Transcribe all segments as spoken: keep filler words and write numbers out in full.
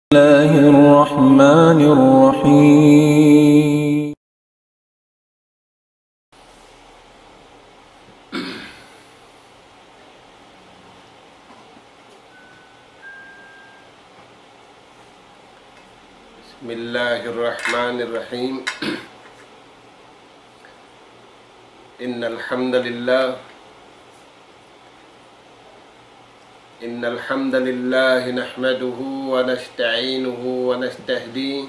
الله الرحمن الرحيم. بسم الله الرحمن الرحيم. إن الحمد لله إن الحمد لله نحمده ونستعينه ونستهديه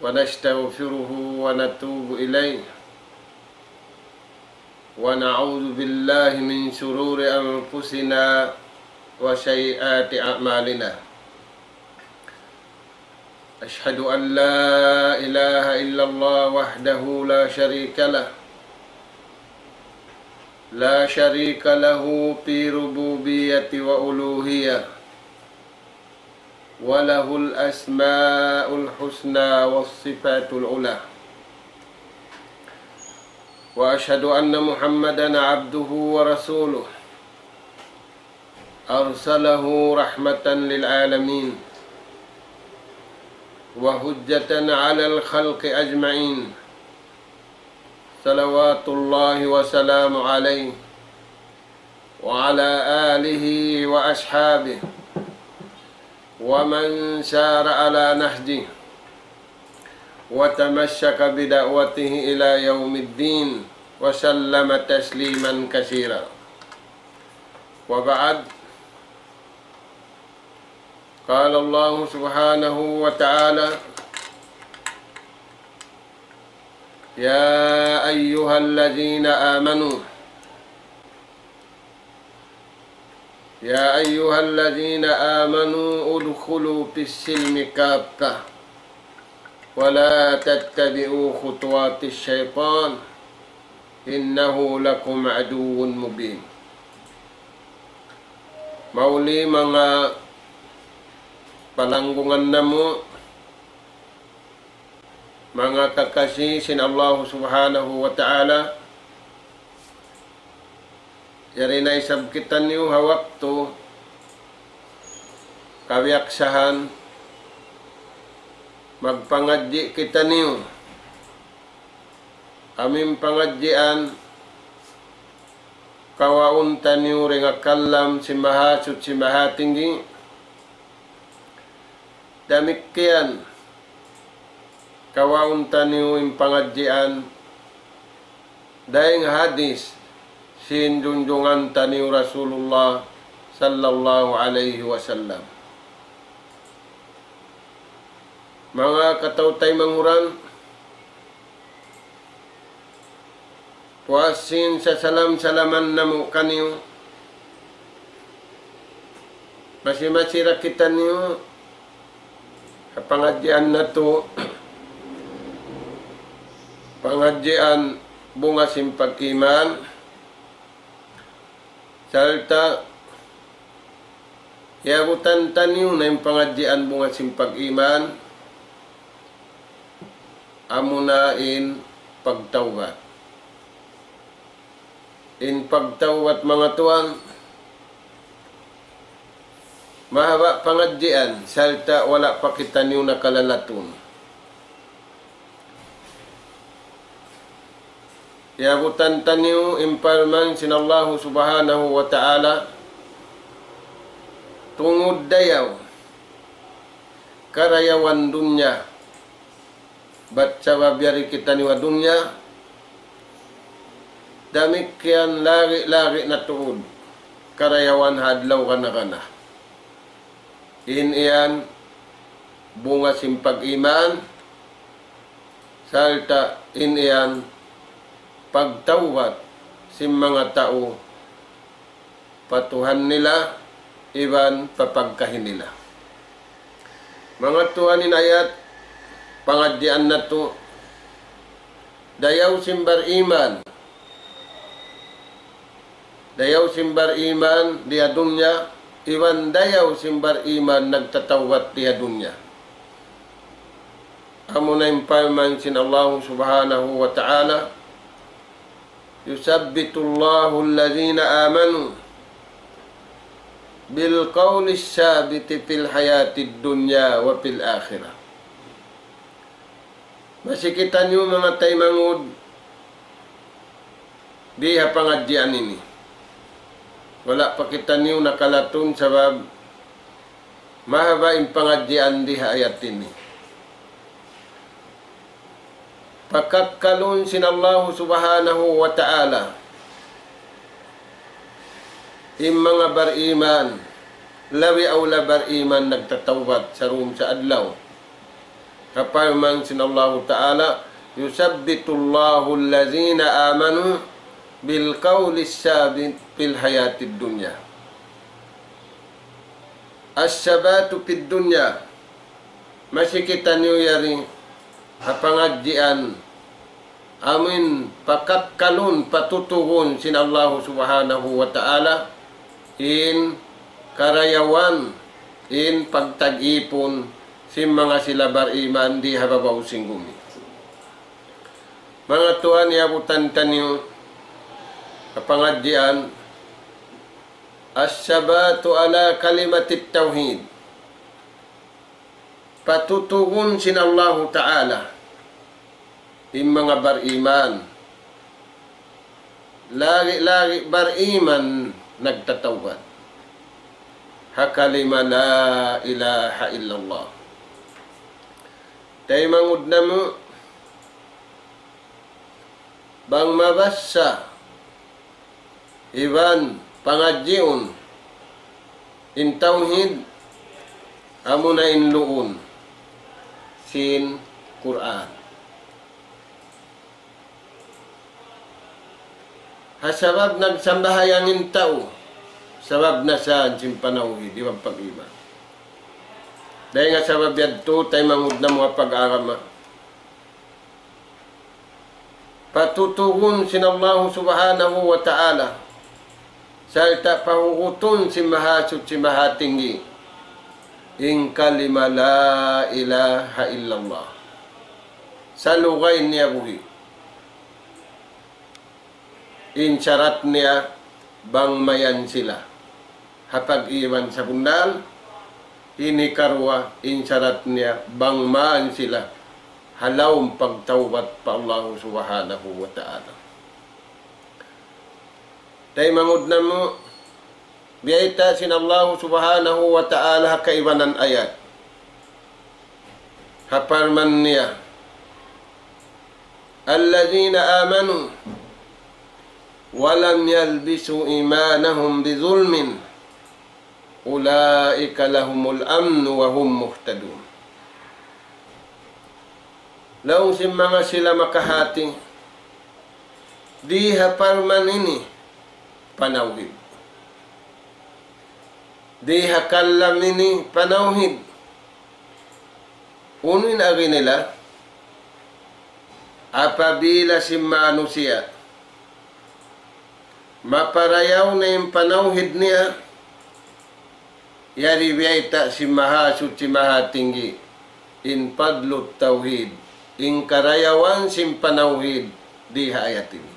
ونستغفره ونتوب إليه، ونعوذ بالله من شرور أنفسنا وسيئات أعمالنا. أشهد أن لا إله إلا الله وحده لا شريك له، لا شريك له في ربوبية وألوهية، وله الأسماء الحسنى والصفات العلى. وأشهد أن محمدا عبده ورسوله، أرسله رحمة للعالمين وحجة على الخلق أجمعين، صلوات الله وسلامه عليه وعلى آله وأصحابه ومن سار على نهجه وتمسك بدعوته إلى يوم الدين، وسلم تسليما كثيرا. وبعد، قال الله سبحانه وتعالى: يا أيها الذين آمنوا يا أيها الذين آمنوا ادخلوا في السلم كافة ولا تتبعوا خطوات الشيطان إنه لكم عدو مبين. Mauli manga palanggungan namu', manga kakasi sin Allah Subhanahu wa Ta'ala, yari na isab kitaniyu ha waktu kabiyaksahan magpangadji' kitaniyu. Amu in pangadjian kawaun taniyu dayn ha kalam sin Mahasuchi Mahatinggi. Damikkiyan kawaun taniyu in pangadjian dayn ha hadis sin junjungan taniyu Rasulullah sallallahu alayhi wasallam. Manga kataw-taymanghuran, puas sin sasalam-salaman namu' kaniyu, masi-masi da kitaniyu ha pangadjian natu', pangadjian bunga sin pag-iman, sarta' iyabutan taniyu na in pangadjian bunga sin pag-iman, amuna in pagtawbat. In pagtawbat, manga tuwan, mahaba' pangadjian, sarta' wala' pa kitaniyu nakalalatun. Iyabutan taniyu in parman sin Allahu Subhanahu wa Ta'ala, tungud dayaw karayawan dunya, bat sabab yari kitaniyu ha dunya, damikkiyan lagi'-lagi' na tuud karayawan ha adlaw gana-gana. In yan bunga sin pag-iman, sarta' in yan pagtawbat sin manga tau pa Tuhan nila iban pa pagkahi nila. Manga tuwan, in ayat pangadjian natu', dayaw sin bar-iman, dayaw sin bar-iman di ha dunya, iban dayaw sin bar-iman nagtatawbat di ha dunya. Amuna in parman sin Allahu Subhanahu wa Ta'ala, يثبت الله الذين آمنوا بالقول الثابت في الحياة الدنيا وفي الآخرة. Masi kitaniyu manga taymanghud di ha pangadjian ini. Wala' pa kitaniyu nakalatun sabab mahaba' in pangadjian di ha ayat ini. Pakakkalun sin Allahu Subhanahu wa Ta'ala in manga bariman, labi awla bariman nagtatawbat sarumsa adlaw. Kaparman sin Allahu Ta'ala, يثبت الله الذين آمنوا بالقول الثابت في الحياة الدنيا. الثبات في الدنيا. Masi kitaniyu yari ha pangadjian amuin pakakkalun, patutugun sin Allahu Subhanahu wa Ta'ala in karayawan, in pagtag-ipun sin manga sila bariman di ha babaw sin gumi. Manga tuwan, iyabutan taniyu ha pangadjian الثبات على كلمة التوحيد. Patutugun sin Allahu Ta'ala in manga bariman, lagi'-lagi' bariman nagtatawbat ha kalima la ilaha illallah. Taymanghud namu', bang mabassa iban pangadjiun in tawhid, amuna in luun sin Qur'an. Ha sabab nagsambahayang in tau, sabab na sa sin panawhid iban pag-iman. Dayn ha sabab yadtu, taymanghud namu' ha pag-agama, patutugun sin Allahu Subhanahu wa Ta'ala, sarta' pahugutun sin Mahasuchi Mahatinggi in kalima la ilaha illallah. Salugay niya buhi'. In sarat niya bang mayan sila ha pag-iman sabunnal, ini karuwa in sarat niya bang mayan sila ha lawm pagtawbat pa Allahu Subhanahu wa Ta'ala. Taymanghud namu', biyayta' sin Allahu Subhanahu wa Ta'ala ha kaibanan ayat. Ha parman niya, الذين آمنوا ولم يلبسوا إيمانهم بظلم أولئك لهم الأمن وهم مهتدون. Laung sin manga sila makahati, di ha parman ini panawhid. Di ha kalam ini panawhid. Unu in agi nila? Apabila sin manusiya' maparayaw na in panawhid niya, yari biyayta' sin Mahasuchi Mahatinggi in fadlut tawhid, in karayawan sin panawhid di ha ayat ini.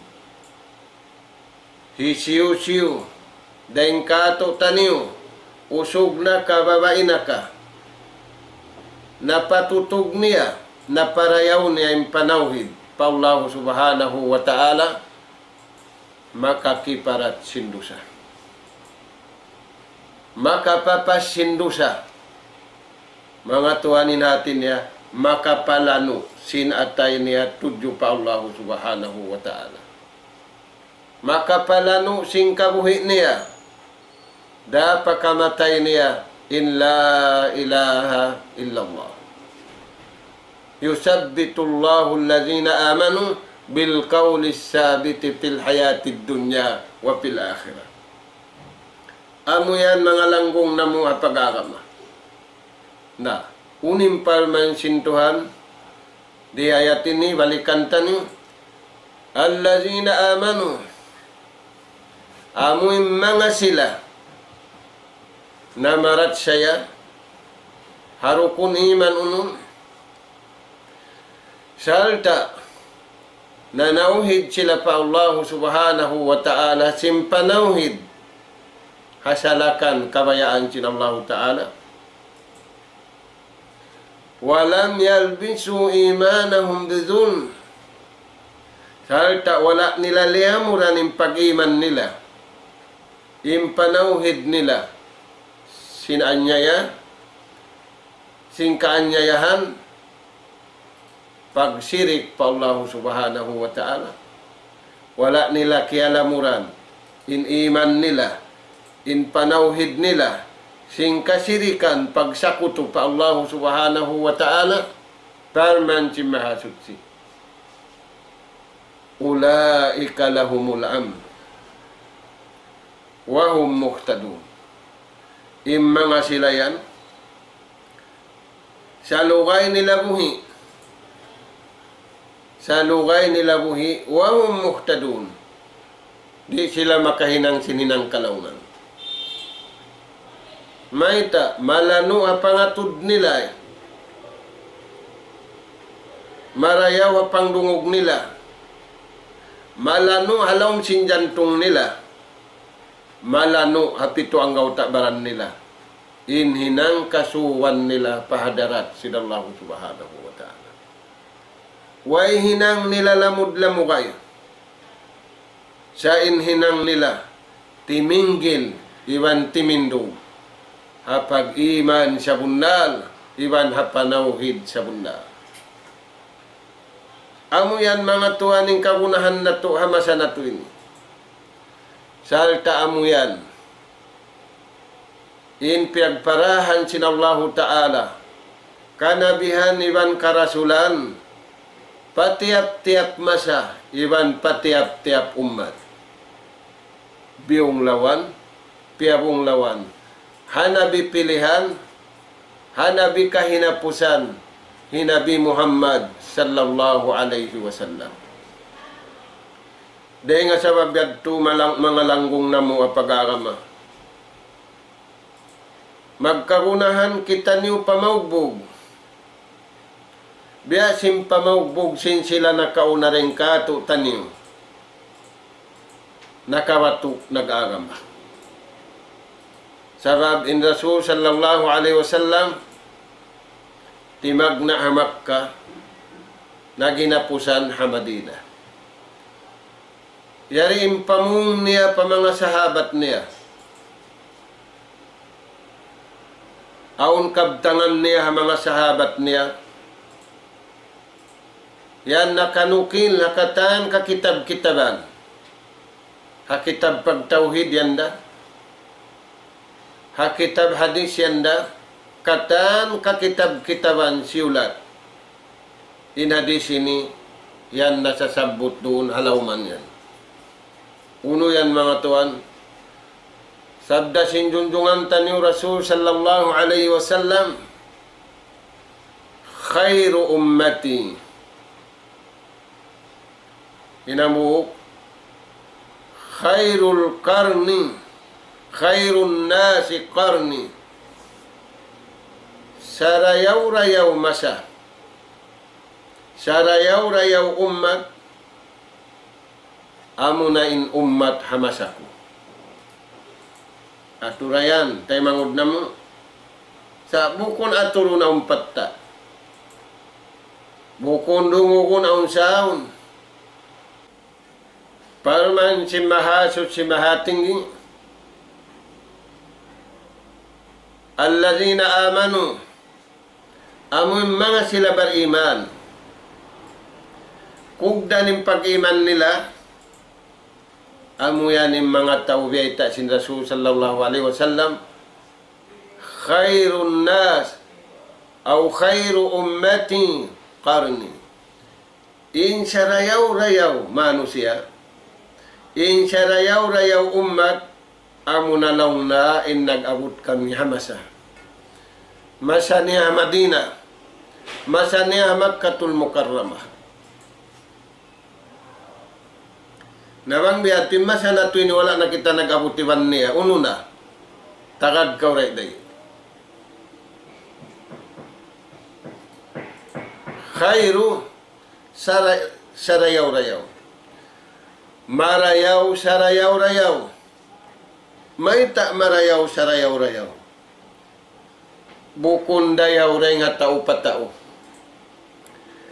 Hisiyu-siyu dayn kātu'niyu, usug na ka, babai na ka, napatutug niya, naparayaw niya in panawhid pa Allahu Subhanahu wa Ta'ala, makakiparat sin dusa. Makapapas sin dusa. Manga tuwan, in hati niya, makapalanu' sin atay niya tudju pa Allahu Subhanahu wa Ta'ala. Makapalanu' sin kabuhi' niya, da pa kamatay niya in la ilaha illallah. يثبت الله الذين آمنوا بالقول الثابت في الحياة الدنيا وفي الآخرة. Amu yan manga langgung namu' ha pag-agama. Na, unu in parman sin Tuhan di ayat ini, balikan taniyu, الذين آمنوا, amu in manga sila namarachaya ha rukun iman unum, sarta' nanawhid sila pa Allahu Subhanahu wa Ta'ala sin panawhid asalakan kabayaan sin Allahu Ta'ala. ولم يلبسوا إيمانهم بظلم. Sarta' wala' nila liyamuran in pag-iman nila, in panawhid nila, sin anyaya, sin kaanyayahan, pagsirik pa Allahu Subhanahu wa Ta'ala. Wala' nila kiyalamuran in iman nila, in panawhid nila, sin kasirikan, pagsakutu pa Allahu Subhanahu wa Ta'ala. Parman sin Mahasuchi, أولئك لهم الأمن وهم مهتدون. In manga sila yan, salugay nila buhi'. Salugay nila buhi', وهم مهتدون. Di' sila makahinang sin hinang kalaungan. Mayta', malanu' ha pangatud nila, eh. Marayaw ha pangdungug nila. Malanu' ha lawm sin jantung nila. Malanu' ha pitu anggawta' baran nila. In hinang kasuuhan nila pa hadarat sin Allahu Subhanahu wa Ta'ala. Way hinang nila lamud-lamugay. Sa' in hinang nila timinggil iban timindug ha pag-iman sabunnal iban ha panawhid sabunnal. Amu yan manga tuwan in kagunahan natu' ha masa natu' ini. Sarta' amu yan in piyagparahan sin Allahu Ta'ala, kanabihan iban karasulan, pa tiyap-tiyap masa iban pa tiyap-tiyap ummat. Biyunglawan, piyabunglawan. Ha Nabi pilihan, ha Nabi kahinapusan, hi Nabi Muhammad sallallahu alayhi wasallam. Dayn ha sabab yadtu malang-, manga langgung namu' ha pag-agama, magkagunahan kitaniyu pamaugbug. Biya' sin pamaugbug sin sila nakauna dayn kātu'niyu, nakabatu' nag-agama. Sabab in Rasul sallallahu alayhi wasallam timagna' ha Makkah, naghinapusan ha Madinah. Yari in pamung niya pa manga sahabat niya. Awn kabtangan niya ha manga sahabat niya. Yan nakanukil ha katan kakitab-kitaban. Ha kitab pagtawhid yan da. Ha kitab hadis yan da. Katan kakitab-kitaban siyulat. In hadis ini, yan nasasabbut duun ha lawman yan. Unu yan manga tuwan? Sabda sin junjungan taniyu Rasul sallallahu alayhi wasallam, خير أمتي. Hinambuuk, خير القرن، خير الناس قرني. Sarayaw-rayaw masa, sarayaw-rayaw ummat, amuna in ummat ha masa ku. Aturayan, taymanghud namu'. Sa' bukun aturun awn patta'. Bukun dungugun awn saun. Parman sin Mahasuchi Mahatinggi, الذين آمنوا, amu in manga sila bariman. Kugdan in pag-iman nila, amu yan in manga tau biyayta' sin Rasul sallallahu alayhi wasallam, خير الناس أو خير أمتي قرني. In sarayaw-rayaw manusiya', in sarayaw-rayaw ummat, amuna laung niya in nag-abut kami ha masa. Masa niya ha Madina, masa niya ha Makkatul Mukarramah. Na bang biya' ha yan in masa natu' ini wala' na kita nag-abut iban niya, unu na? Tagad kaw dayn di. Khairu sara-, sarayaw-rayaw. Marayaw sarayaw-rayaw. Mayta' marayaw sarayaw-rayaw? Bukun dayaw dayn ha tau pa tau.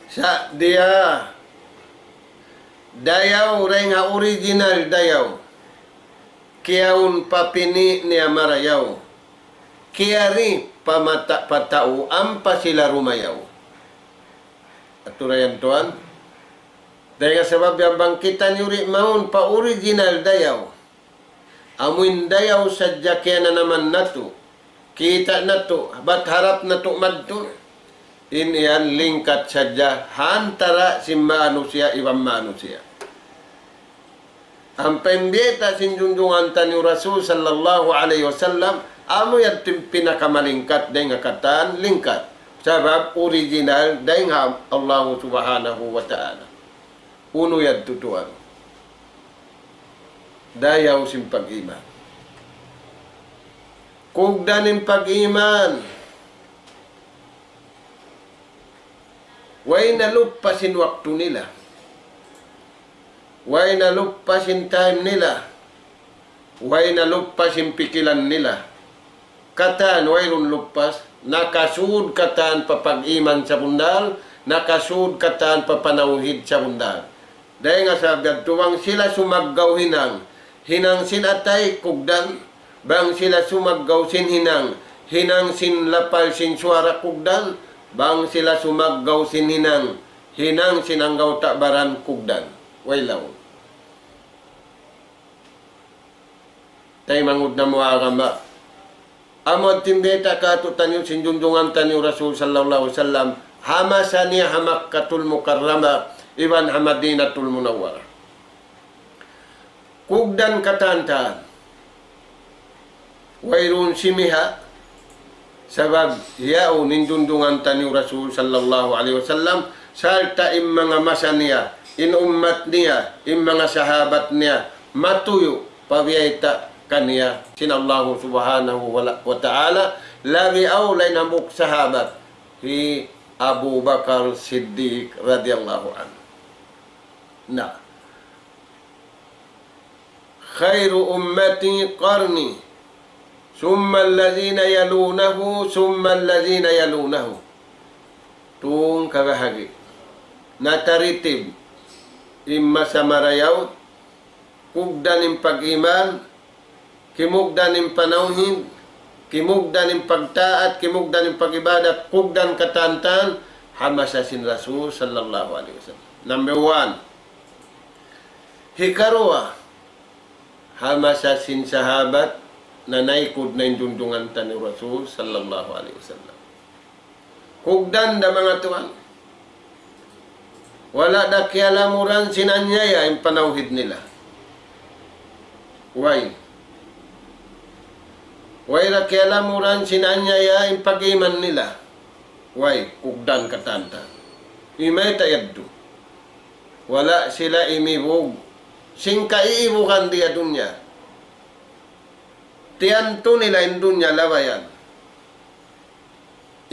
Sa' diya dayaw dayn ha original dayaw. Kiyaun pa pini' niya marayaw. Kiyari pa mata pa tau ampa sila rumayaw. Atura yan tuwan. Dayn ha sabab yan bang kitaniyu di' mawn pa original dayaw. Amu in dayaw sadja kiyananaman natu', kita' natu', bat harap natu' madtu. In yan lingkat sadja ha antara' sin manusiya' iban manusiya'. Ampa in bayta' sin junjungan taniyu Rasul sallallahu alayhi wasallam, amu yan in pinakamalingkat dayn ha katan lingkat. Sabab original dayn ha Allahu subhanahu wa ta'ala. Unu yadtu tuwan? Dayaw sin pag-iman. Kugdan in pag-iman. Way naluppas in waktu nila. Way naluppas in time nila. Way naluppas in pikilan nila. Katan wayruun luppas, nakasud katan pa pag-iman sabundal, nakasud katan pa panawhid sabundal. Dayn ha sabab yadtu bang sila sumaggaw hinang, hinang sin atay kugdan, bang sila sumaggaw sin hinang, hinang sin lapal sin suwara kugdan, bang sila sumaggaw sin hinang, hinang sin anggawta' baran kugdan. Way laung. Taymanghud namu' agama. Amu in bayta' kātu'niyu sin junjungan taniyu Rasul sallallahu alayhi wasallam, ha masa niya ha Makkatul Mukarramah, iban ha Madinatul Munawwarah. Kugdan katan-katan. Wayruun simiha', sabab yaun in junjungan taniyu Rasul sallallahu alayhi wasallam, sarta' in manga masa niya, in ummat niya, in manga sahabat niya, matuyu' pa biyayta' kaniya sin Allahu subhanahu wa la-, wa ta'ala, labi awla in hambuuk sahabat, hi Abu Bakar Siddiq radiyallahu anhu. Na. خير أمتي قرني ثم الذين يلونهم ثم الذين يلونهم. Tung kabahagi'. Na taritib. In masa marayaw, kugdan in pag-iman, kimugdan in panawhid, kimugdan in pagtaat, kimugdan in pag-ibadat, kugdan katan-katan, ha masa sin Rasul sallallahu alayhi wasallam. Number one. Hikaruwa, ha masa sin sahabat, nanaykud na in junjungan taniyu Rasul sallallahu alayhi wasallam. Kugdan da manga tuwan. Wala' da kiyalamuran sin anyaya in panawhid nila. Way. Way da kiyalamuran sin anyaya in pag-iman nila. Way, kugdan katan-katan. Imayta' yadtu. Wala' sila imibug sin kaiibugan di ha dunya. Tiyantu nila in dunya labayan.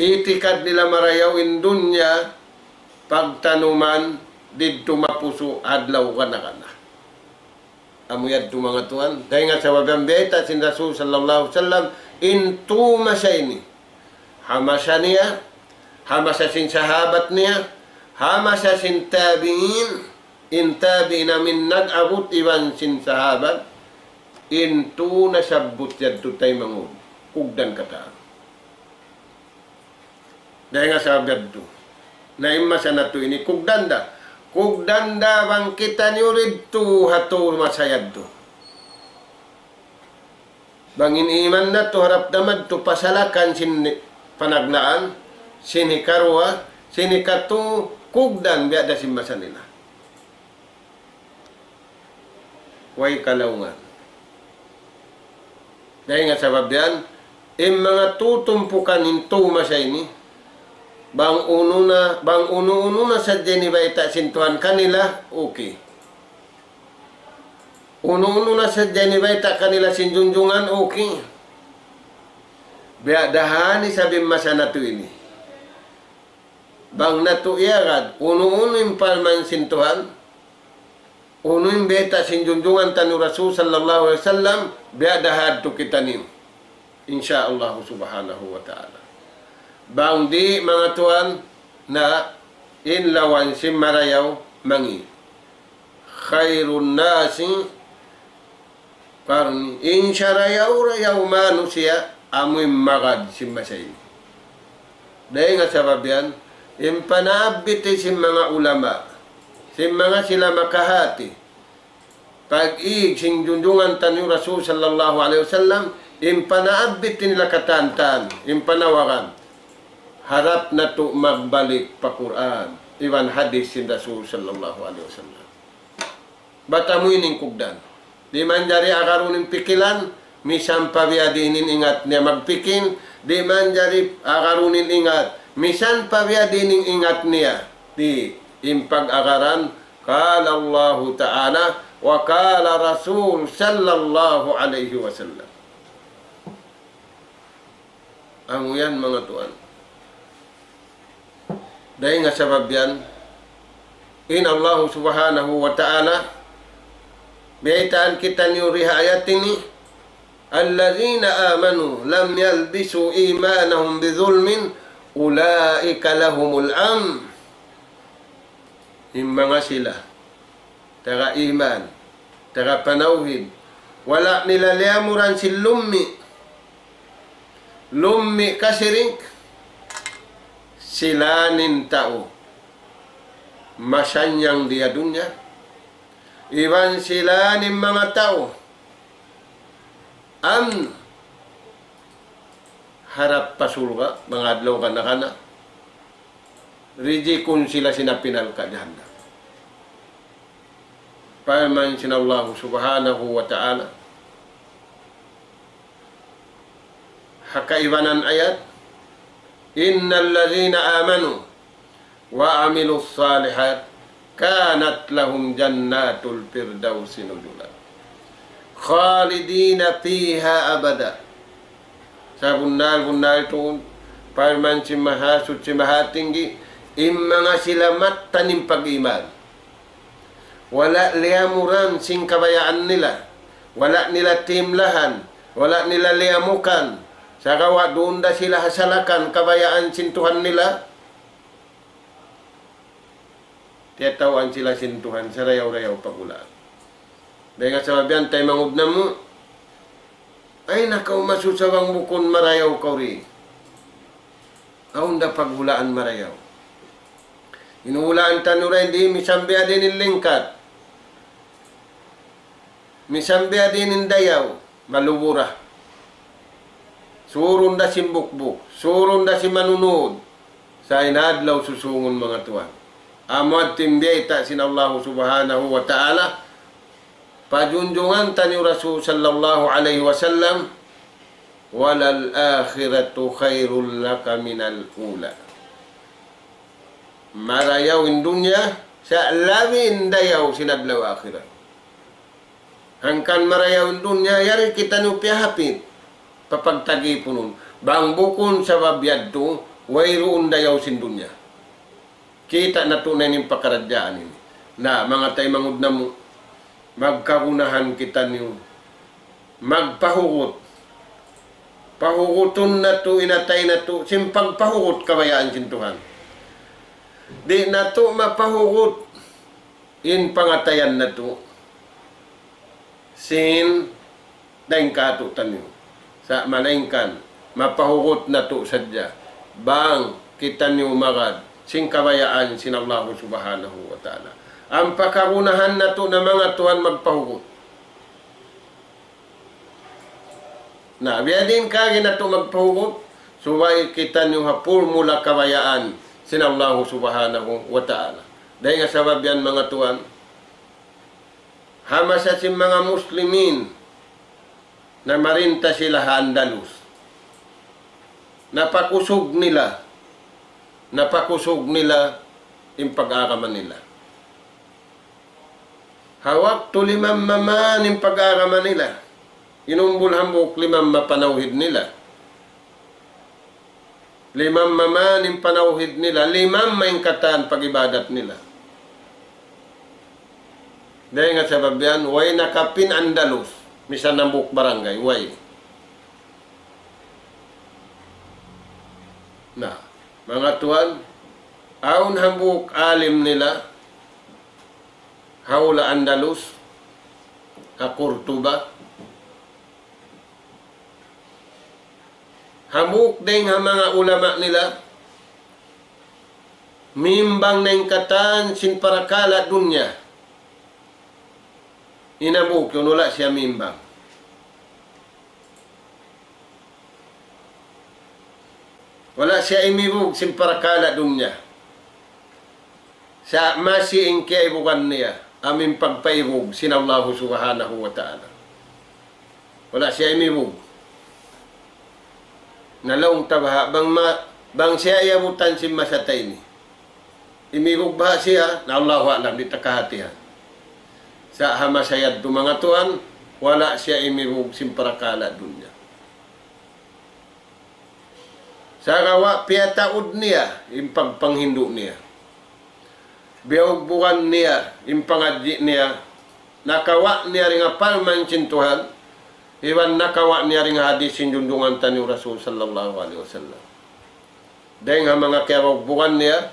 Itikad nila marayaw in dunya pagtanuman didtu mapusu' adlaw kana-kana. Amu yadtu manga tuwan. Dayn ha sabab yan bayta' sin Rasul sallallahu alayhi wasallam, in tū masa ini. Ha masa niya, ha masa sin sahabat niya, ha masa sin tabi'in, in tabi'in amu in nag-abut iban sin sahabat, in tū nasabbut yadtu taymanghud. Kugdan katan. Dayn ha sabab yadtu. Na in masa natu' ini kugdan da. Kugdan da bang kitaniyu didtu ha tū masa yadtu. Bang in iman natu' harap da madtu pasalakan sin panagnaan, sin hikaruwa, sin hikatū, kugdan biya' da sin masa nila. Way kalaungan. Dayn ha sabab yan, in manga tutumpukan in tū masa ini, bang unu na, bang unu-unu na sadja ini bayta' sin Tuhan kanila, okay. Unu-unu na sadja ini bayta' kanila sin junjungan, okay. Biya' da ha ini isab in masa natu' ini. Bang natu' iyagad, unu-unu in parman sin Tuhan, Unu in bayta' sin junjungan taniyu Rasul sallallahu alayhi wasallam, biya' da hadtu kitaniyu. Insya Allah subhanahu wa ta'ala. Bang di' manga tuwan na in lawan sin marayaw mangi'. خير الناس قرني. In sarayaw-rayaw manusiya' amu in magad sin masa ini. Dayn ha sabab yan, in panaabbit sin manga ulama, sin manga sila makahati, pag-ig sin junjungan taniyu Rasul sallallahu alayhi wasallam, in panaabbit nila katantan, in panawagan, harap natu' magbalik pa Qur'an, iban hadith sin Rasul sallallahu alayhi wasallam. Bat amu ini in kugdan. Di' manjari agarun in pikilan, misan pa biya' diin in ingat niya magpikil, di' manjari agarun in ingat, misan pa biya' diin in ingat niya. Di', in pag-agaran, قال الله تعالى وقال رسول صلى الله عليه وسلم. Amu yan manga tuwan. Dayn ha sabab yan, in Allah subhanahu wa ta'ala, biyaytaan kitaniyu di ha ayat ini, الذين آمنوا ولم يلبسوا إيمانهم بظلم أولئك لهم الأمن. In manga sila taga iman, taga panawhid, wala' nila liyamuran sin lummi', lummi' kasirik, sila in tau masannyang di ha dunya, iban sila in manga tau amn, harap pa surga', manga adlaw kana-kana, rijikun sila sin api narka' jahannam. Parman sin Allah subhanahu wa ta'ala ha kaibanan ayat, إن الذين آمنوا وعملوا الصالحات كانت لهم جنات الفردوس نزلا خالدين فيها أبدا. Sabunnal-bunnal tuud, parman sin Mahasuchi Mahatinggi, in manga sila mattan in pag-iman, wala' liyamuran sin kabayaan nila, wala' nila timlahan, wala' nila liyamukan, sagawa' duun da sila ha salakan kabayaan sin Tuhan nila, tiyatawaan sila sin Tuhan sarayaw-rayaw paghulaan. Dayn ha sabab yan, taymanghud namu', ay, nakaw, masusa bang bukun marayaw kaw di. Awn da paghulaan marayaw. In hulaan taniyu di, misan biya' diin in lingkat, misan biya' diin in dayaw, malubura. Surun da sin bukbuk, surun da sin manunud. Sa' in adlaw susungun, manga tuwan, amu yadtu in biyayta' sin Allah subhanahu wa ta'ala pa junjungan taniyu Rasul sallallahu alayhi wasallam, وللآخرة خير لك من الأولى. Marayaw in dunya, sa' labi in dayaw sin adlaw akhirat. Hangkan marayaw in dunya, yari kitaniyu piyahapit pa pagtagipunun. Bang bukun sabab yadtu, wayruun dayaw sin dunya. Kita' natu' na in pakaradjaan ini. Na, manga taymanghud namu', magkagunahan kitaniyu magpahugut. Pahugutun natu' in atay natu' sin pagpahugut kabayaan sin Tuhan. Di' natu' mapahugut in pangatayan natu' sin dayn kātu'niyu. Sa' malaingkan mapahugut natu' sadja bang kitaniyu magad sin kabayaan sin Allahu Subhanahu wa Ta'ala. Ampa kagunahan natu' na, manga tuwan, magpahugut. Na, biya' diin kagi natu' magpahugut, subay kitaniyu ha pulmula kabayaan sin Allahu Subhanahu wa Ta'ala. Dayn ha sabab yan, manga tuwan, ha masa sin manga Muslimin, namarinta sila ha Andalus. Napakusug nila, napakusug nila in pag-agama nila. Ha waktu limamma man in pag-agama nila, inumbul hambuuk limamma panawhid nila. Limamma man in panawhid nila, limamma in katan pag-ibadat nila. Dayn ha sabab yan, way nakapin Andalus, misan hambuuk barangay, way. Na, manga tuwan, awn hambuuk alim nila, ha hula' Andalus, ha Cordoba, hambuuk dayn ha manga ulama nila, mimbang na in katan sin parakala' dunya. In hambuuk yan, wala' siya mimbang. Wala' siya imibug sin parakala' dunya. Sa' masi in kiyaibugan niya, amu in pagpaibug sin Allahu Subhanahu wa Ta'ala. Wala' siya imibug. Na laung ta baha', bang ma-, bang siya iyabutan sin masa ta ini. Imibug baha' siya, na Allahu a'lam, di' ta kahatihan. Sa' ha masa yadtu manga tuwan, wala' siya imibug sin parakala' dunya. Sagawa' piyataud niya in pagpanghindu' niya. Biyugbugan niya in pangadji' niya. Nakawa' niya dayn ha parman sin Tuhan, iban nakawa' niya dayn ha hadith sin junjungan taniyu Rasul sallallahu alayhi wasallam. Dayn ha manga kiyabugbugan niya,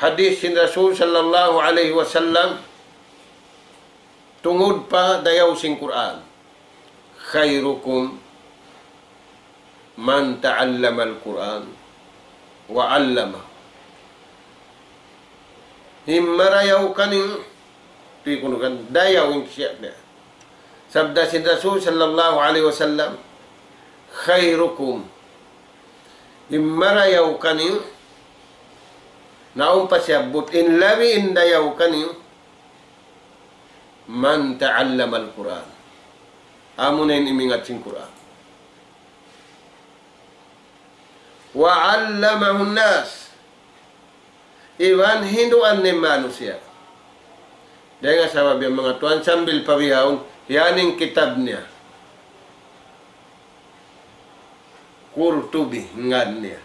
hadith sin Rasul sallallahu alayhi wasallam, tungud pa dayaw sin Qur'an. خيركم من تعلم القرآن وعلمه. In marayaw kaniyu, di' kunu' kan, dayaw in siya niya. Sabda sin Rasul sallallahu alayhi wasallam, خيركم. In marayaw kaniyu, naung pa siyabbut, in labi in dayaw kaniyu, من تعلم القرآن. Amu na in imingat sin Qur'an. وعلمه الناس. Iban hinduan niya in manusiya'. Dayn ha sabab yan manga tuwan sambil pa bihaun, yan in kitab niya. Qurtubi ngan niya.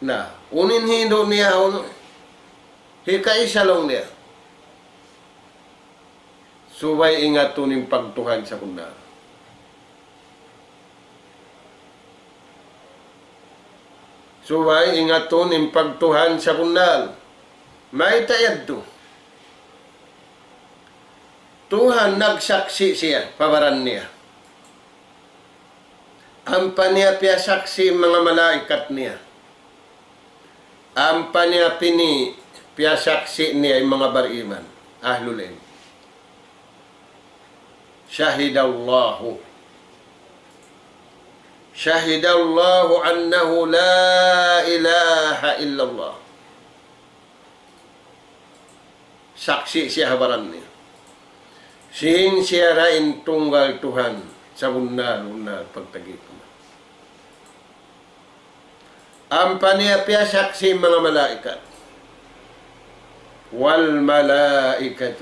Na, unu in hindu' niya, unu, hikaisa laung niya. Subay ingatun in pagtuhan sabunnal. Subay ingatun in pagtuhan sabunnal. Mayta' yadtu? Tuhan nagsaksi' siya pa baran niya. Ampa niya piyasaksi' in manga malaikat niya. Ampa niya pini-, piyasaksi' niya in manga bariman, ahlul ilm. شهد الله. شهد الله أنه لا إله إلا الله. Saksi' siya ha baran niya. Sin siya ra in tunggal Tuhan sabunnal-bunnal pagtagipun. Ampa niya piyasaksi' in manga malaikat. والملائكة.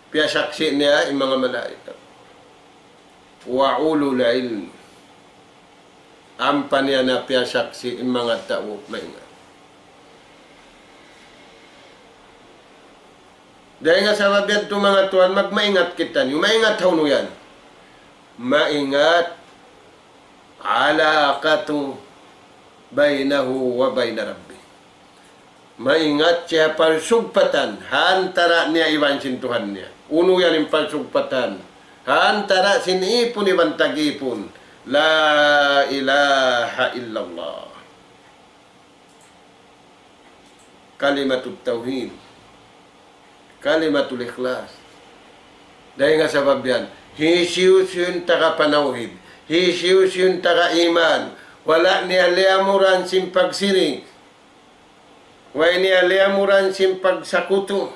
Piyasaksi' niya in manga malaikat. وأولو العلم. Ampa niya na piyasaksi' in manga tau maingat. Dayn ha sabab yadtu manga tuwan, magmaingat kitaniyu. Maingat hawnu yan? Maingat علاقة بينه وبين ربه. Maingat siya parsugpatan ha antara' niya iban sin Tuhan niya. Unu yan in parsugpatan? Ha antara' sin ipun iban tag-ipun. لا إله إلا الله. Kalimatut tawhid. Kalimatul ikhlas. Dayn ha sabab yan, hisiyu-siyu in taga panawhid, hisiyu-siyu in taga iman, wala' niya liyamuran sin pagsirik, way niya liyamuran sin pagsakutu,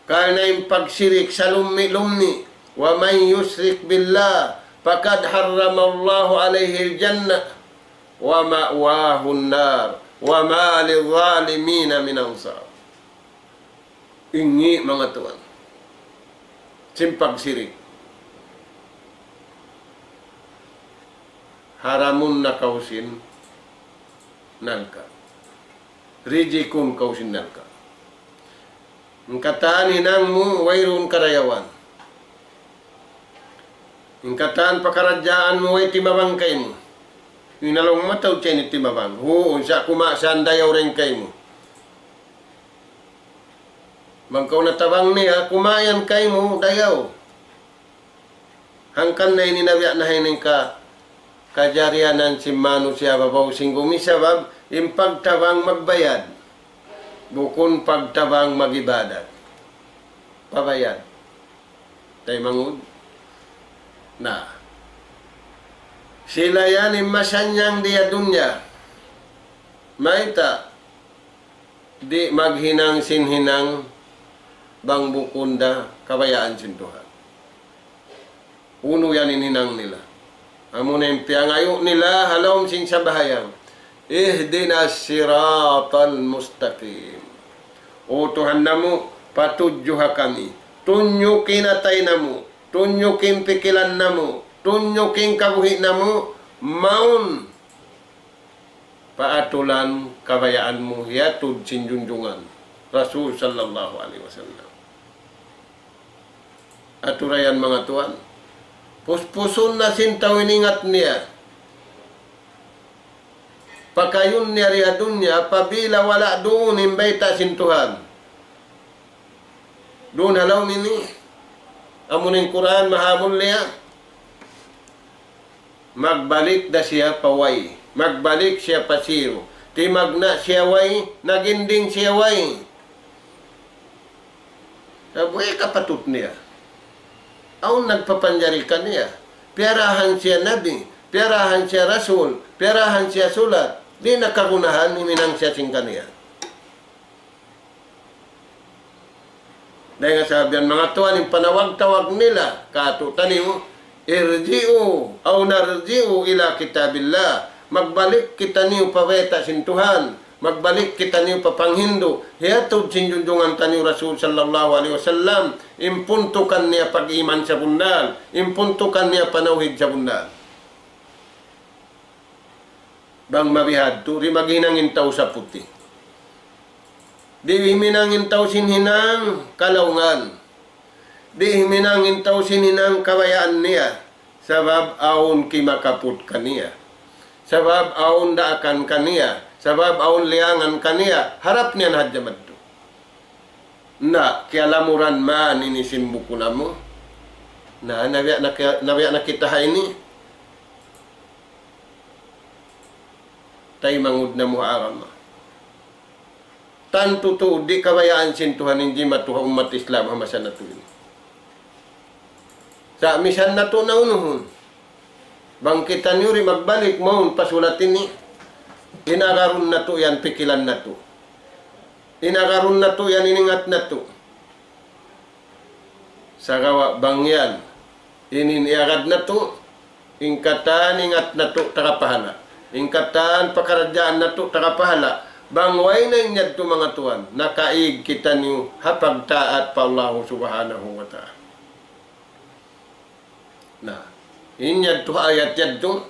karna' in pagsirik salummi'-lummi'. ومن يشرك بالله فقد حرم الله عليه الجنة ومأواه النار وما للظالمين من أنصار. Ini manga tuwan. Sin pagsirik. Haramun na kaw sin narka'. Rijikun kaw sin narka'. In katan hinang mu, wayruun karayawan. In katan pakaradjaan mu, way timabang kaymu. In laung mataud siya ini timabang. Huun, sa' kumasan dayaw dayn kaymu. Bang kaw natabang niya, kumayan kaymu, dayaw. Hangkan na ini nabiya' na ha ini ka, kajarianan sin manusiya' babaw sin gumi sabab in pagtabang magbayad. Bukun pagtabang mag-ibadat. Pabayad. Taymanghud. Na. Sila yan in masannyang di ha dunya. Mayta'? Di' maghinang sin hinang bang bukun da kabayaan sin Tuhan. Unu yan in hinang nila? Amuna in piyangayu' nila ha lawm sin sambahayang. اهدنا الصراط المستقيم. O Tuhan namu', patudjuha kami. Tunjuki in atay namu', tunjuki in pikilan namu', tunjuki in kabuhi' namu', mawn pa aturan kabayaan mu hiyatud sin junjungan Rasul sallallahu alayhi wasallam. Aturayan manga tuwan, puspusun na sin tau in ingat niya. Pakayun niya di ha dunya, apabila wala' duun in bayta' sin Tuhan. Duun ha lawm ini, amun in Qur'an mahamulliya, magbalik da siya pa way. Magbalik siya pa zero. Timagna' siya way, naginding siya way. Sa' buhi' kapatut niya. Awn nagpapanjari kaniya. Piyarahan siya nabi, piyarahan siya rasul, piyarahan siya sulat. Di' na kagunahan, huminang siya sin kaniya. Dayn ha sabab yan manga tuwan in panawag-tawag nila, katu' taniyu, ارجعوا أو نرجع إلى كتاب الله. Magbalik kitaniyu pa bayta' sin Tuhan. Magbalik kitaniyu pa panghindu'. Hiyatud sin junjungan taniyu Rasul sallallahu alayhi wasallam. In puntukan niya pag-iman sabunnal. In puntukan niya panawhid sabunnal. Bang mabihadtu, di' maghinang in tau saputi. Di' huminang in tau sin hinang kalaungan. Di' huminang in tau sin hinang kabayaan niya. Sabab awn kimakaput kaniya. Sabab awn daakan kaniya. Sabab awn liyangan kaniya. Harap niya na hadja madtu. Na, kiyalamuran man ini sin bukun namu'. Na, nabiya' na ki-, nabiya' na kita ha ini. Taymanghud namu' ha agama. Tantu tuud di' kabayaan sin Tuhan in jimatu ha ummat Islam ha masa natu' ini. Sa' misan natu' na unuhun. Bang kitaniyu di' magbalik mawn pa sulat ini, in agarun natu' yan pikilan natu'. In agarun natu' yan in ingat natu'. Sagawa' bang yan, in, in iyagad natu', in katan ingat natu' taga pahala'. In katan pakaradjaan natu' taga pahala'. Bang way na in yadtu manga tuwan, nakaig kitaniyu ha pagtaat pa Allahu Subhanahu wa Ta'ala. Na, in yadtu ha ayat yadtu,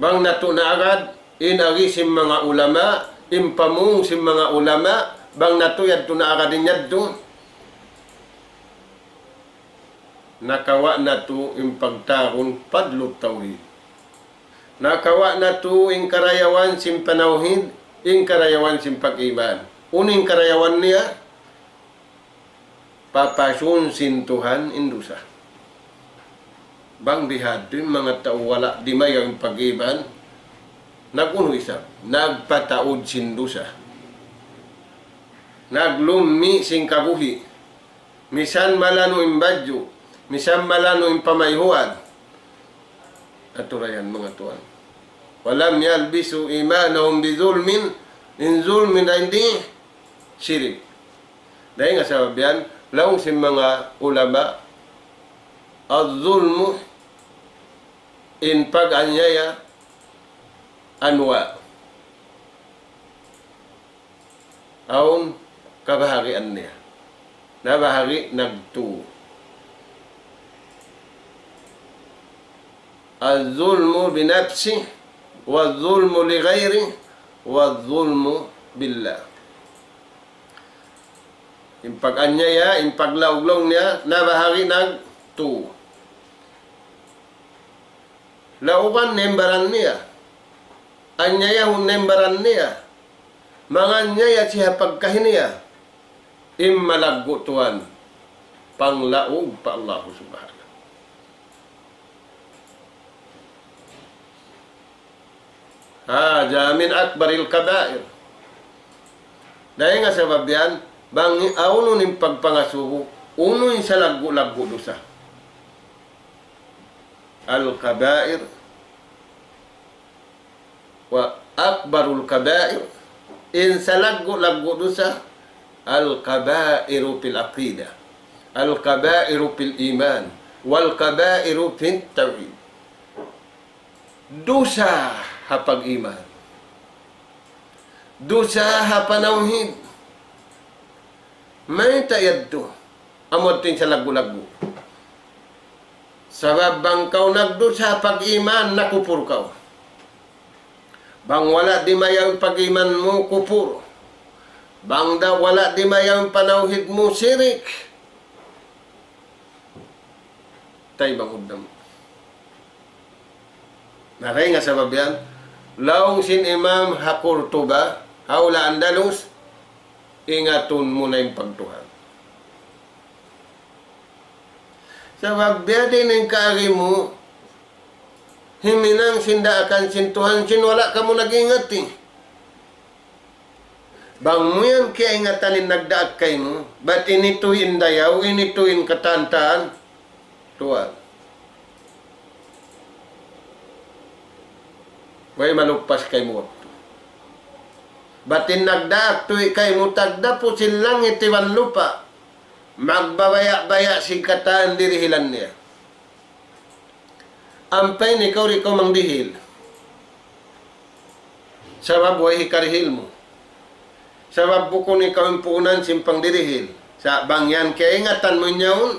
bang natu' naagad, in agi sin manga ulama, in pamung sin manga ulama, bang natu' yadtu naagad in yadtu, nakawa' natu' in pagtawagun fadlut tawhid. Nakawa' natu' in karayawan sin panawhid, in karayawan sin pag-iman. Unu in karayawan niya? Papasun sin Tuhan in dusa. Bang bihadtu in manga tau wala' dimayaw in pag-iman, nag-unu isab, nagpataud sin dusa. Naglummi' sin kabuhi'. Misan malanu' in badju', misan malanu' in pamayhuan. Aturayan manga tuwan. ولم يلبسوا إيمانهم بظلم, in zulm dayn di shirik. Dayn ha sabab yan, laung sin manga ulama, الظلم, in pag-anyaya, أنواع. Awn kabahagian niya. Nabahagi' nagtu. الظلم بنفسه، والظلم لغيره، والظلم billah. In pag-anyaya, in paglaug-laug niya, na bahagi nagtu. Laugan na in baran niya. Anyayahun na in baran niya. Manganyaya siya pagkahi niya. In malaggu' tuwan, panglaug pa Allah Subhanahu. هذا من أكبر الكبائر. Dayn ha sabab yan, bang awn unu in pagpangasubu, unu in salaggu'-laggu' dusa. الكبائر وأكبر الكبائر, in salaggu'-laggu' dusa, الكبائر في العقيدة، الكبائر في الإيمان، والكبائر في التوحيد. Dusa ha pag-iman. Dusa ha panawhid. Mayta' yadtu? Amu yadtu in salaggu'-laggu'. Sabab bang kaw nagdusa ha pag-iman, nakupur kaw. Bang wala' dimayaw in pag-iman mu, kupur. Bang da wala' dimayaw in panawhid mu, sirik. Tay bang huddam. Na dayn ha sabab yan, laung sin Imam ha Qurtuba, ha hula' Andalus, ingatun mu na in pagtuhan. Sabab biya' diin in kaagi mu, himinang sin daakan sin Tuhan, sin wala' kamu nag-ingat, eh. Bang mu yan kiyaingatan in nagdaak kaymu, bat ini tuud in dayaw, ini tuud in katan-katan, tuwan. Way maluppas kaymu waktu. Bat in nagdaak tuud kaymu tagdapu sin langit iban lupa', magbabaya'-baya' sin katan dirihilan niya. Ampa in ikaw di' kaw mangdihil. Sabab way hikarihil mu. Sabab bukun ikaw in puunan sin pangdirihil. Sa' bang yan kiyaingatan mu in yaun,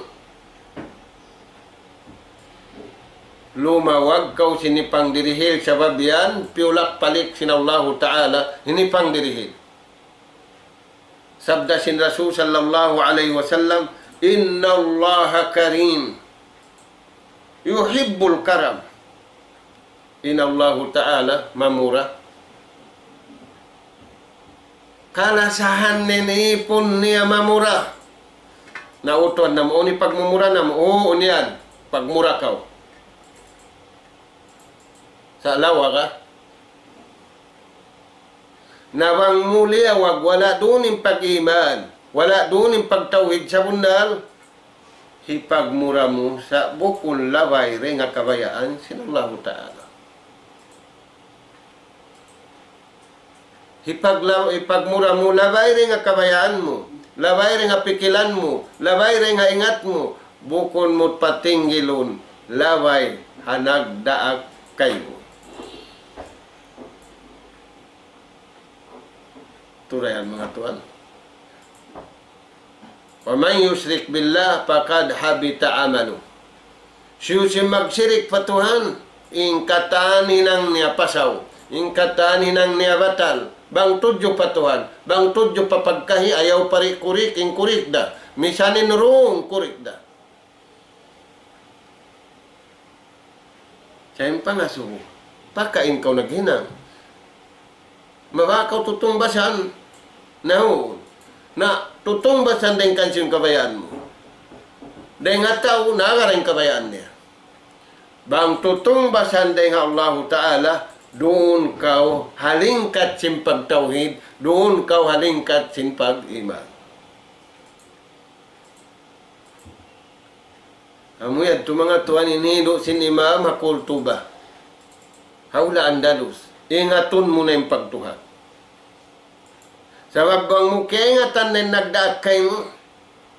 lumawag kaw sin hipangdirihil. Sabab yan piyulak-palik sin Allahu Ta'ala in hipangdirihil. Sabda sin Rasul sallallahu alayhi wasallam, إن الله كريم يحب الكرم. In Allahu Ta'ala mamura. Kalasahan niya in ipun niya mamura. Na utuan namu', unu in pagmumura namu', uu, unu yan, pagmura kaw. Sa' lawa ka. Na bang mu liyawag, wala' duun in pag-iman, wala' duun in pagtawhid sabunnal, hipagmura mu sa' bukun labay dayn ha kabayaan sin Allahu Ta'ala. Hipagla-, hipagmura mu labay dayn ha kabayaan mu, labay dayn ha pikilan mu, labay dayn ha ingat mu, bukun mu patinggilun, labay ha nagdaak kaymu. Turayan manga tuwan. ومن يشرك بالله فقد حبط عمله. Hisiyu-siyu in magsirik pa Tuhan, in katan hinang niya pasaw, in katan hinang niya batal, bang tudju pa Tuhan, bang tudju pa pagkahi, ayaw pa di' kurik, in kurik da, misan in rung kurik da. Sa' in pangasubu, pakain kaw naghinang. Mabaya' kaw tutungbasan, naun. Na, tutungbasan dayn kan sin kabayaan mu. Dayn ha tau, nagara in kabayaan niya. Bang tutungbasan dayn ha Allahu Ta'ala, duun kaw ha lingkat sin pagtawhid, duun kaw ha lingkat sin pag-iman. Amu yadtu manga tuwan in hilu' sin Imam ha Qurtuba. Ha hula' Andalus. Ingatun mu na in pagtuhan. Sabab bang mu kaingatan na in nagdaak kaymu,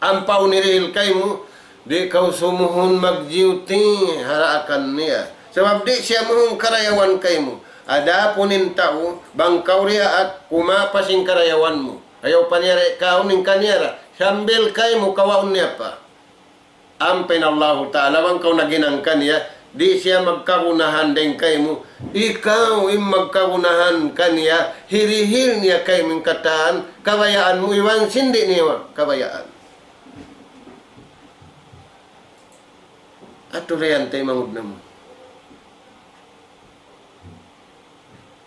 ampa awn hirihil kaymu, di' kaw sumuhun magjiyuti' ha daakan niya. Sabab di' siya muhun karayawan kaymu. Adapun in tau, bang kaw diyaak, kumapas in karayawan mu. Ayaw pa niya ra kaun in kaniya ra. Sambil kaymu kawaun niya pa. Ampa in Allahu Ta'ala, bang kaw naghinang kaniya, Di' siya magkagunahan dayn kaymu. Ikaw in magkagunahan kaniya, hirihil niya kaymu in katan kabayaan mu iban sin di' niya kabayaan. Atu ra yan, taymanghud namu'.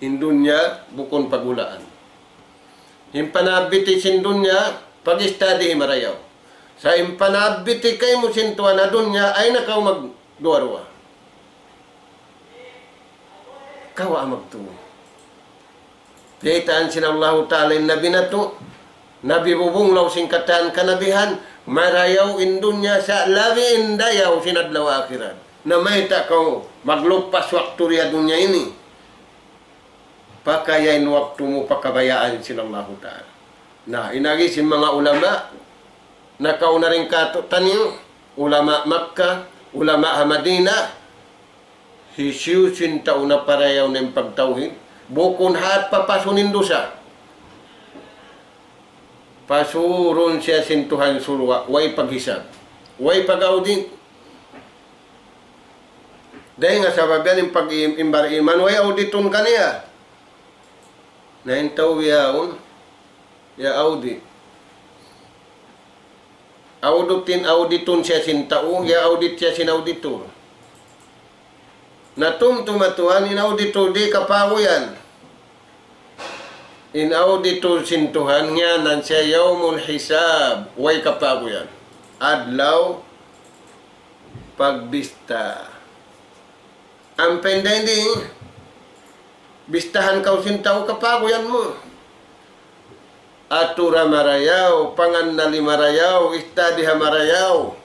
In dunya bukun pagulaan. In panabbiti sin dunya, pag-istadihi marayaw. Sa' in panabbiti kaymu sin Tuhan ha dunya, ayaw na kaw magduwa-ruwa. Kawa' magtuy. Biyaytaan sin Allahu Ta'ala in Nabi natu', Nabi bubunglaw sin katan kanabihan, marayaw in dunya sa' labi in dayaw sin adlaw akhirat. Na mayta' kaw maglupas waktu di ha dunya ini. Pakaya in waktu mu pa kabayaan sin Allahu Ta'ala. Na, in agi sin manga ulama, nakauna dayn kātu'niyu, ulama Makkah, ulama ha Madinah, hisiyu sin tau naparayaw na in pagtawhid, bukun hat papasun in dusa. Pasurun siya sin Tuhan surga', way paghisab, way pag-audit. Dayn ha sabab yan in pag-, in bariman, way auditun kaniya. Na in tau yaun, ya audit. Auditin, auditun siya sin tau, ya audit siya sin auditor. Na tumtuma tuwan in auditor di' kapaguyan. In auditor sin Tuhan, ngiyanan siya yawmul hisab, way kapaguyan. Adlaw pagbista. Ampa in dayn di, bistahan kaw sin tau kapaguyan mu. Atura marayaw, pangannali marayaw, istadiha marayaw.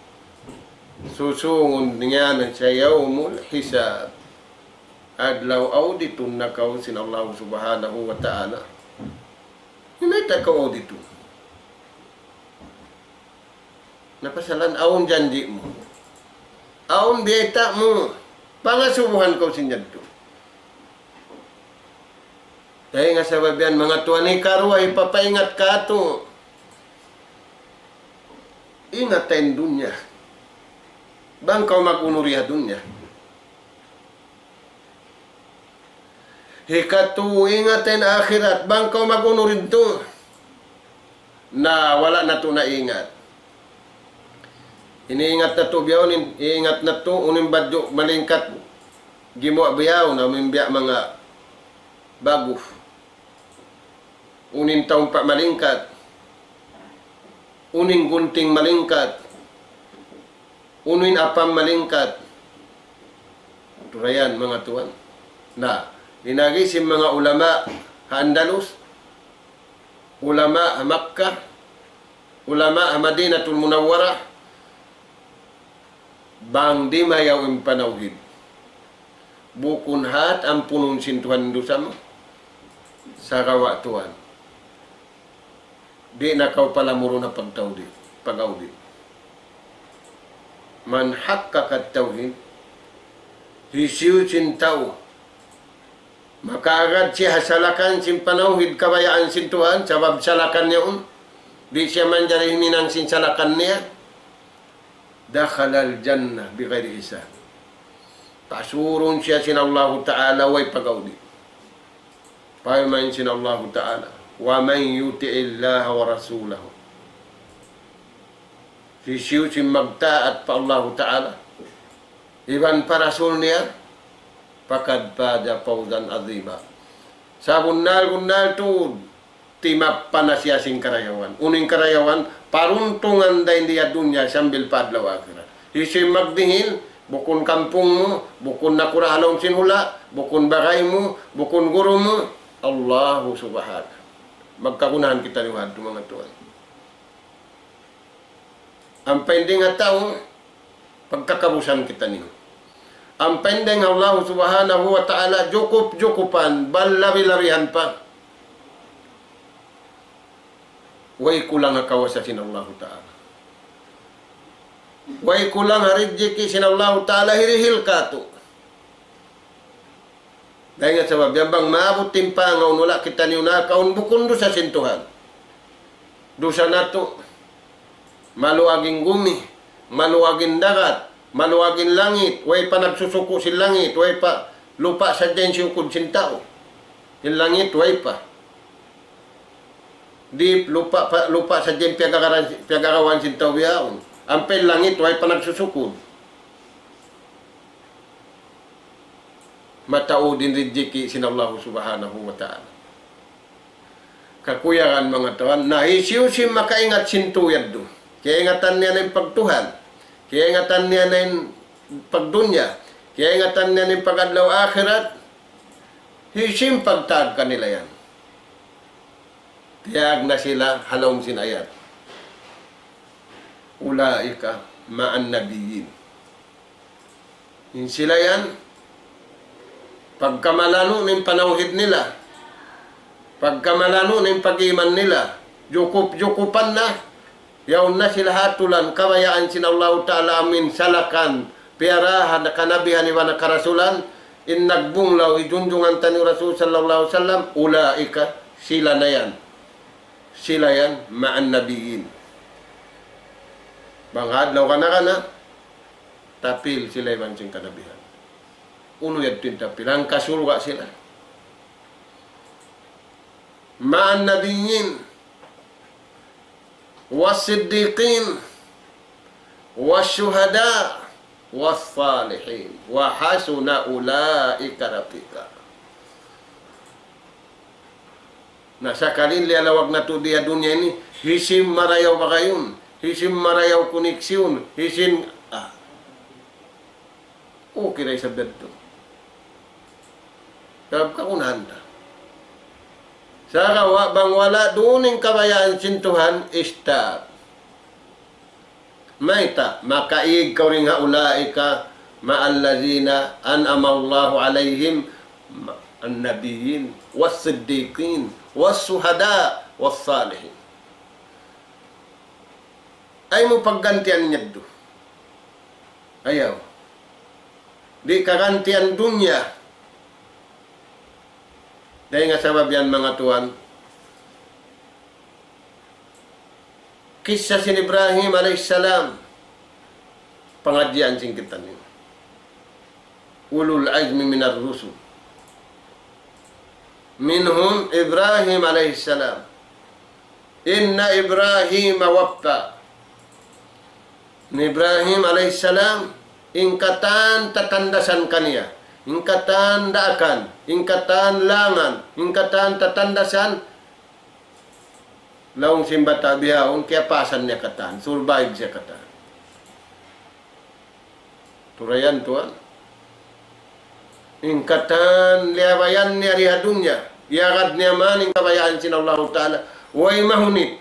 Susungun niya na sa yawmul hisab. Adlaw auditun na kaw sin Allah Subhanahu wa Ta'ala. Hinayta kaw auditun. Na pasalan awn janji' mu. Awn biyayta' mu. Pangasubuhan kaw sin yadtu. Dayn ha sabab yan, manga tuwan, hikaruwa, hipapaingat kātu'. Ingat in dunya. Bang kaw mag-unu di ha dunya. Hikatu, ingat in akhirat, bang kaw mag-unu didtu. Na, wala' natu' naingat. Ini ingat natu' biyaun, in-, ingat natu', unu in badju' malingkat, gimuwa' biyaun, amu in biya' manga bagus. Unu in taumpa' malingkat. Unu in gunting malingkat. Unu in apam malingkat. Turayan, manga tuwan. Na, in agi sin manga ulama ha Andalus, ulama ha Makkah, ulama ha Madinatul Munawwarah, bang di' mayaw in panawhid. Bukun hat ampunun sin Tuhan in dusa mu. Sagawa' tuwan. Di' na kaw palamurun ha pagtawhid, pag-audit. Man haqqaqa tawhid, hisiyu sin tau makaagad siya ha salakan sin panawhid kabayaan sin Tuhan, sabab salakan niya yaun, di' siya manjari huminang sin salakan niya, دخل الجنة بغير حساب. Pasurun siya sin Allahu Ta'ala way pag-audit. Parman sin Allahu Ta'ala, ومن يطع الله ورسوله. Hisiyu sin magtaat pa Allahu Ta'ala iban pa Rasul niya, فقد فاز فوزا عظيما. Sabunnal-bunnal tuud, timappa na siya sin karayawan. Unu in karayawan, paruntungan dayn di ha dunya sambil pa adlaw akhirat. Hisiyu in magdihil, bukun kampung mu, bukun nakura' ha lawm sin hula', bukun bagay mu, bukun guru mu, Allahu Subhanahu. Magkagunahan kitaniyu hadtu, manga tuwan. Ampa in dayn ha tau, pagkakabusan kitaniyu. Ampa in dayn ha Allah Subhanahu wa Ta'ala, jukup-jukupan, bal labi-labihan pa. Way kulang ha kawasa sin Allahu Ta'ala. Way kulang ha rijiki' sin Allahu Ta'ala, hirihil kātu'. Dayn ha sabab yan, bang maabut in pangawn, wala' kitaniyu nakaun, bukun dusa sin Tuhan. Dusa natu', maluag in gumi, maluag in dagat, Maluag in langit, way pa nagsusuku' sin langit, way pa, lupa' sadja in siyukud sin tau. In langit, way pa. Di' lupa' pa, lupa' sadja in piyagagaran-, piyagagawan sin tau bihaun. Ampa in langit, way pa nagsusukud. Mataud in rijiki' sin Allah Subhanahu wa Ta'ala. Kakuyagan manga tuwan, na hisiyu-siyu makaingat sin tau yadtu. Kiyaingatan niya na in pagtuhan. Kiyaingatan niya na in pagdunya. Kiyaingatan niya na in pag-adlaw akhirat. Hisiyu in pagtag kanila yan. Tiyag na sila ha lawm sin ayat. أولئك مع النبيين. In sila yan, pagka malanu' na in panawhid nila, pagka malanu' na in pag-iman nila, jukup-jukupan na, yaun na sila ha atulan, kabayaan sin Allahu Ta'ala amu in salakan, piyarahan, kanabihan iban karasulan, in nagbunglaw, hi junjungan taniyu Rasul sallallahu alayhi wasallam, أولئك, sila na yan. Sila yan, مع النبيين. Bang ha adlaw kana-kana, tapil sila iban sin kanabihan. Unu yadtu in tapil? Hangka surga' sila. مع النبيين والصديقين والشهداء والصالحين وحسن أولئك رفيقا. Na, sakali liyalawag natu' di ha dunya ini, hisiyu in marayaw bagayun, hisiyu in marayaw koneksyon, hisiyu in, ah. Okay da isab yadtu. Sabab kagunahan ta. Sagawa' bang wala' duun in kabayaan sin Tuhan, stop. Mayta', makaig kaw dayn ha أولئك مع الذين أنعم الله عليهم من النبيين والصديقين والشهداء والصالحين. Ayaw mu paggantian in yadtu. Ayaw. Di' kagantian dunya. Dayn ha sabab yan, manga tuwan, kissa sin Ibrahim alayhis salam, pangadjian sin kitaniyu. أولو العزم من الرسل. منهم إبراهيم عليه السلام. إن إبراهيم وفى. Ibrahim alayhis salam, in katan tatandasan kaniya, in katan daakan, in katan langan, in katan tatandasan, laung sin bata' bihaun, kiyapasan niya katan, survive siya katan. Turayan tuwan. In katan liyabayan niya di ha dunya, iyagad niya man in kabayaan sin Allahu Ta'ala, way mahunit,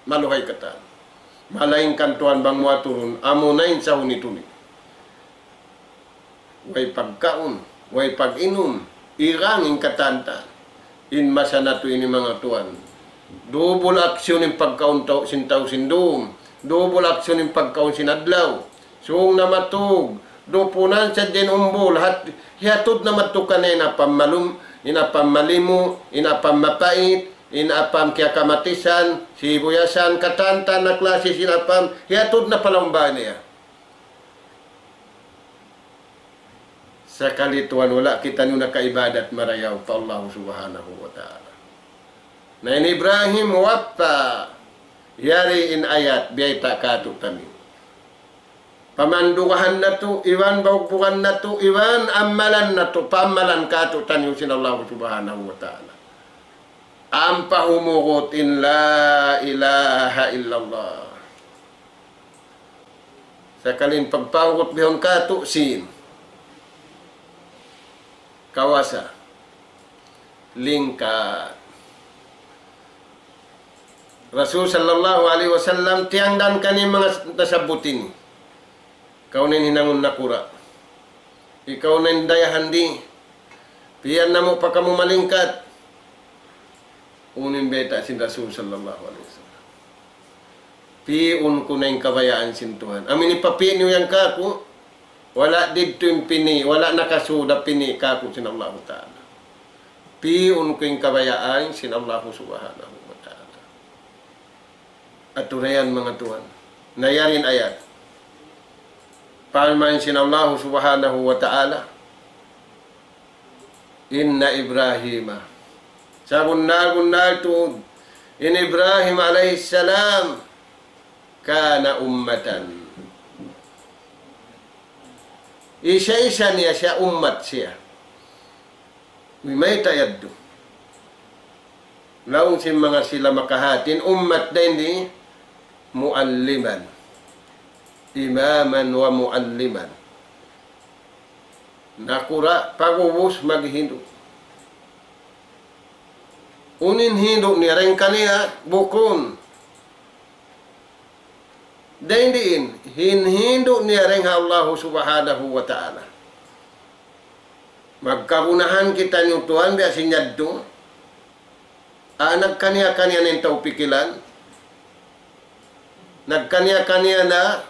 maluhay katan. Malaingkan tuwan bang mu aturun, amuna in sahunit-hunit. Way pagkaun, way pag-inum, igang in katan ta. In masa natu' ini, manga tuwan, dubul aksyon in pagkaun tau, sin tau sin dum, dubul aksyon in pagkaun sin adlaw. Sung na matug, dupunan sadja in umbul, hat-, hiyatud na madtu kaniya in apam malum-, in apam malimu, in apam mapait, in apam kiyakamatisan, sibuyasan, katan-katan na klasi sin apam, hiyatud na pa lawm bāy niya. Sakali tuwan, wala' kitaniyu nakaibadat marayaw pa Allah Subhanahu wa Ta'ala. Na in Ibrahim وفى, yari in ayat biyayta' kātu'niyu. Pamandugahan natu', iban baubugan natu', iban ammalan natu', paammalan kātu'niyu sin Allah Subhanahu wa Ta'ala. Ampa humugut in لا إله إلا الله. Sakali in pagpahugut bihaun kātu' sin kawasa, lingkat. Rasul sallallahu alayhi wasallam, tiyangdan kaniya manga tasabbut ini. Kaw na in hinangun nakura'. Ikaw na in dayahan di. Piyan namu' pa kamu malingkat. Unu in bayta' sin Rasul sallallahu alayhi wasallam? Pi'un ku na in kabayaan sin Tuhan. Amu in hipapi' niyu yan kāku', wala' didtu in pini', wala' nakasud ha pini' kāku' sin Allahu Ta'ala. Pi'un ku in kabayaan sin Allahu Subhanahu wa Ta'ala. Atu na yan, manga tuwan. Na yari in ayat. Parman sin Allahu Subhanahu wa Ta'ala, إن إبراهيم, sabunnal-bunnal tuud in Ibrahim alayhi salam, كان أمة. Isa-isa niya siya, ummat siya. Mayta' yadtu? Laung sin manga sila makahati, in ummat dayn di, معلما. إماما ومعلما. Nakura', pag'ubus maghindu'. Unu in hindu' niya dayn kaniya, bukun. Dayn diin, hinhindu' niya dayn ha Allahu Subhanahu wa Ta'ala. Magkagunahan kitaniyu tuwan biya' sin yadtu. Ah, nagkaniya-kaniya na in tau pikilan. Nagkaniya-kaniya na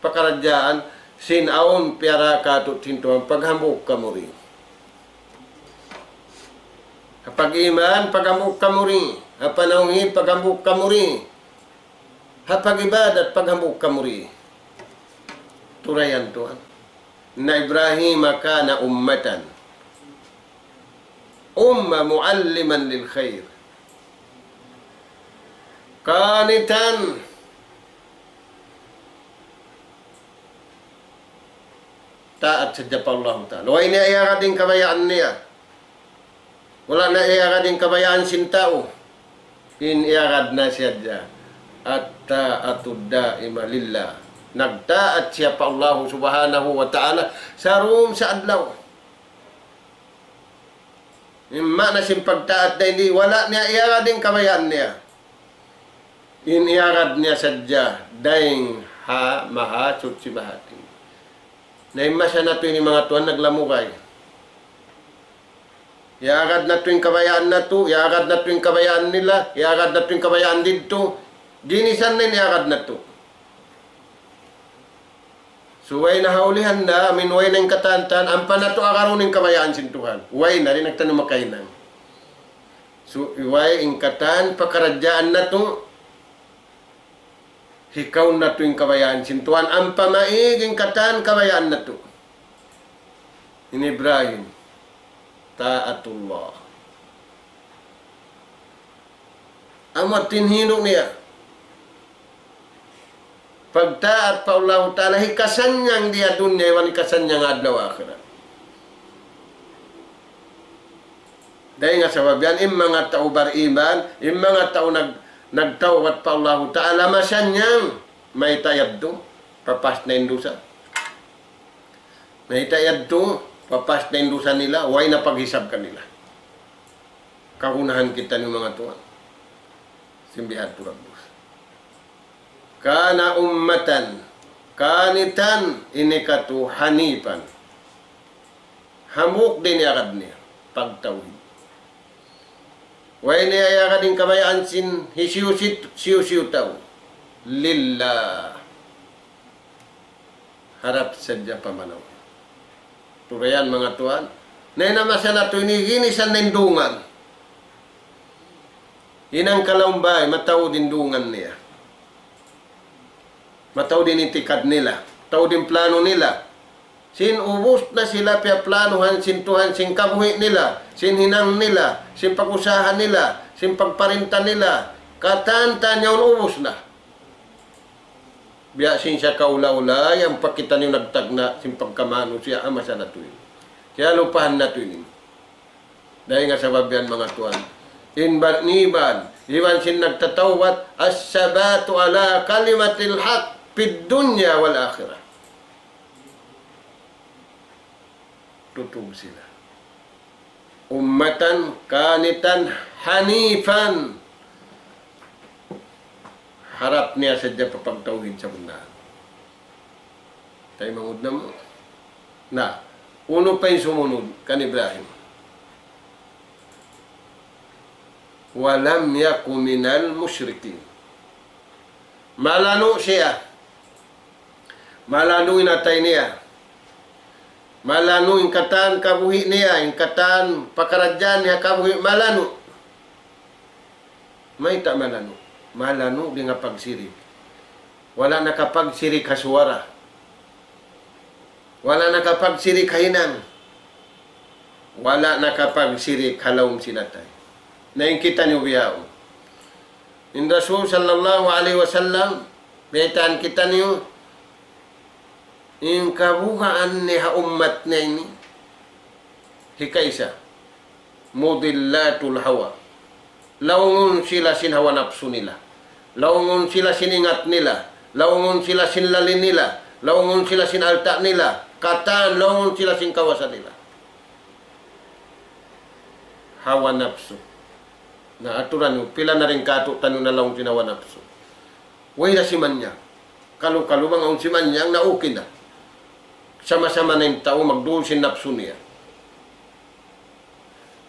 pakaradjaan, sin awn piyara katu' sin Tuhan, paghambuuk kamu ri. Ha pag-iman, paghambuuk kamu ri. Ha panawhid, paghambuuk kamu ri. Ha pag-ibadat, paghambuuk kamu ri. Turayan tuwan. إن إبراهيم كان أمة. أمة معلما للخير. قانتا. Taat sadja pa Allahu Ta'ala. Way niya iyagad in kabayaan niya. Wala' niya iyagad in kabayaan sin tau. In iyagad niya sadja, الطاعة الدائمة لله. Nagtaat siya pa Allahu Subhanahu wa Ta'ala sarung sa adlaw. In maana sin pagtaat dayn di, wala' niya iyagad in kabayaan niya. In iyagad niya sadja dayn ha Mahasuchi Mahatinggi. Na in masa natu' ini manga tuwan naglamugay. Iyagad natu' in kabayaan natu', iyagad natu' in kabayaan nila, iyagad natu' in kabayaan didtu. Ginisan na in iyagad natu'. So, way na ha ulihan na, amin way na in katan-katan, ampa natu' agarun in kabayaan sin Tuhan. Way na, di' na kitaniyu makahinang. So, way in katan pakaradjaan natu', hikaun natu' in kabayaan sin Tuhan, ampa maig in katan kabayaan natu'. In Ibrahim, taatullah. Amu in hindu' niya. Pagtaat pa Allahu Ta'ala, hikasannyang di ha dunya, iban hikasannyang adlaw akhirat. Dayn ha sabab yan, in manga tau bariman, in manga tau nag-, nagtawbat pa Allahu Ta'ala, masannyang, mayta' yadtu, papas na in dusa. Mayta' yadtu, papas na in dusa nila, way na paghisab kanila. Kagunahan kitaniyu manga tuwan. Sin biya' ha tuud. كان أمة قانتا, ini katu' hanifan. Hambuuk da in iyagad niya, pagtawhid. Way niya iyagad in kabayaan sin hisiyu-siyu, hisiyu-siyu tau. Lillah. Harap sadja pa manaw. Turayan manga tuwan. Na in masa natu' ini ginisan na in dungan. Hinang kalaum-bay, mataud in dungan niya. Mataud in itikad nila. Mataud in plano nila. Sin ubus na sila piyaplanuhan sin Tuhan sin kabuhi' nila, sin hinang nila, sin pag-usaha nila, sin pagparinta nila. Katan-katan yaun ubus na. Biya' sin sakaula-ula, yan pa kitaniyu nagtagna' sin pagkamanusiya' ha masa natu' ini. Kiyalupahan natu' ini. Dayn ha sabab yan manga tuwan. In bariman, iban sin nagtatawbat, الثبات على كلمة الحق في الدنيا والآخرة. Tutug sila. أمة قانتا حنيفا. Harap niya sadja pa pagtawhid sabunnal. Taymanghud namu'. Na, unu pa in sumunud kan Ibrahim? ولم يك من المشركين. Malanu' siya. Malanu' in atay niya. Malanu' in katan kabuhi' niya, in katan pakaradjaan niya kabuhi', malanu'. Mayta' malanu'? Malanu' dayn ha pagsirik. Wala' nakapagsirik ha suwara. Wala' nakapagsirik ha hinang. Wala' nakapagsirik ha lawm sin atay. Na in kitaniyu bihaun. In Rasul sallallahu alayhi wasallam, baytaan kitaniyu, in kabugaan niya ha ummat niya ini, hikaisa, mudillatul hawa. Laungun sila sin hawa napsu nila. Laungun sila sin ingat nila. Laungun sila sin lali nila. Laungun sila sin alta' nila. Katan, laungun sila sin kawasa nila. Hawa napsu. Na aturan niyu, pila na dayn kātu'niyu nalaung sin hawa napsu. Way da simanyang. Kalu-kalu bang awn simanyang na okay na. Sama-sama na in tau magduul sin napsu niya.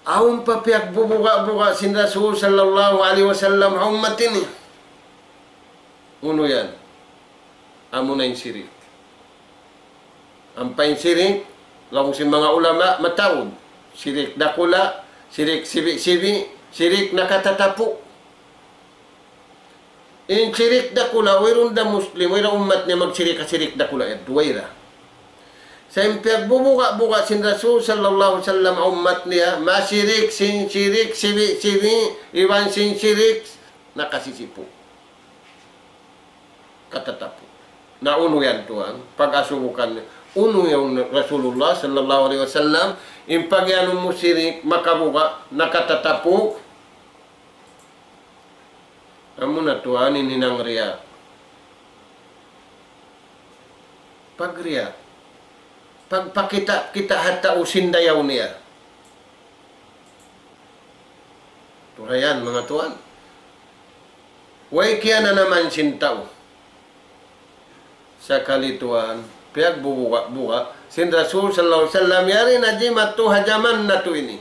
Awn pa piyagbubuga'-buga' sin Rasul sallallahu alayhi wasallam ha ummat ini. Unu yan? Amuna in sirik. Ampa in sirik, laung sin manga ulama, mataud. Sirik dakula', sirik sibi'-sibi', sirik nakatatapu'. In sirik dakula', wayruun da Muslim, wayruun ummat niya magsirik ha sirik dakula' yadtu, wayra. Sa' in piyagbubuga'-buga' sin Rasul sallallahu alayhi wasallam ha ummat niya, masirik, sin sirik, sibi'-sibi', iban sin sirik, nakasisipu'. Katatapu'. Na unu yan tuwan, pag-asubukan niya. Unu yan Rasulullah sallallahu alayhi wasallam, in pagiyanun mu sirik, makabuga', nakatatapu', amuna tuwan in hinang riya. Pagriya. Pagpakita'-kita' ha tau sin dayaw niya. Turayan, manga tuwan. Way kiyananaman sin tau. Sakali tuwan, piyagbubuga'-buga' sin Rasul sallallahu alayhi wasallam, yari na jimatu ha jaman natu' ini.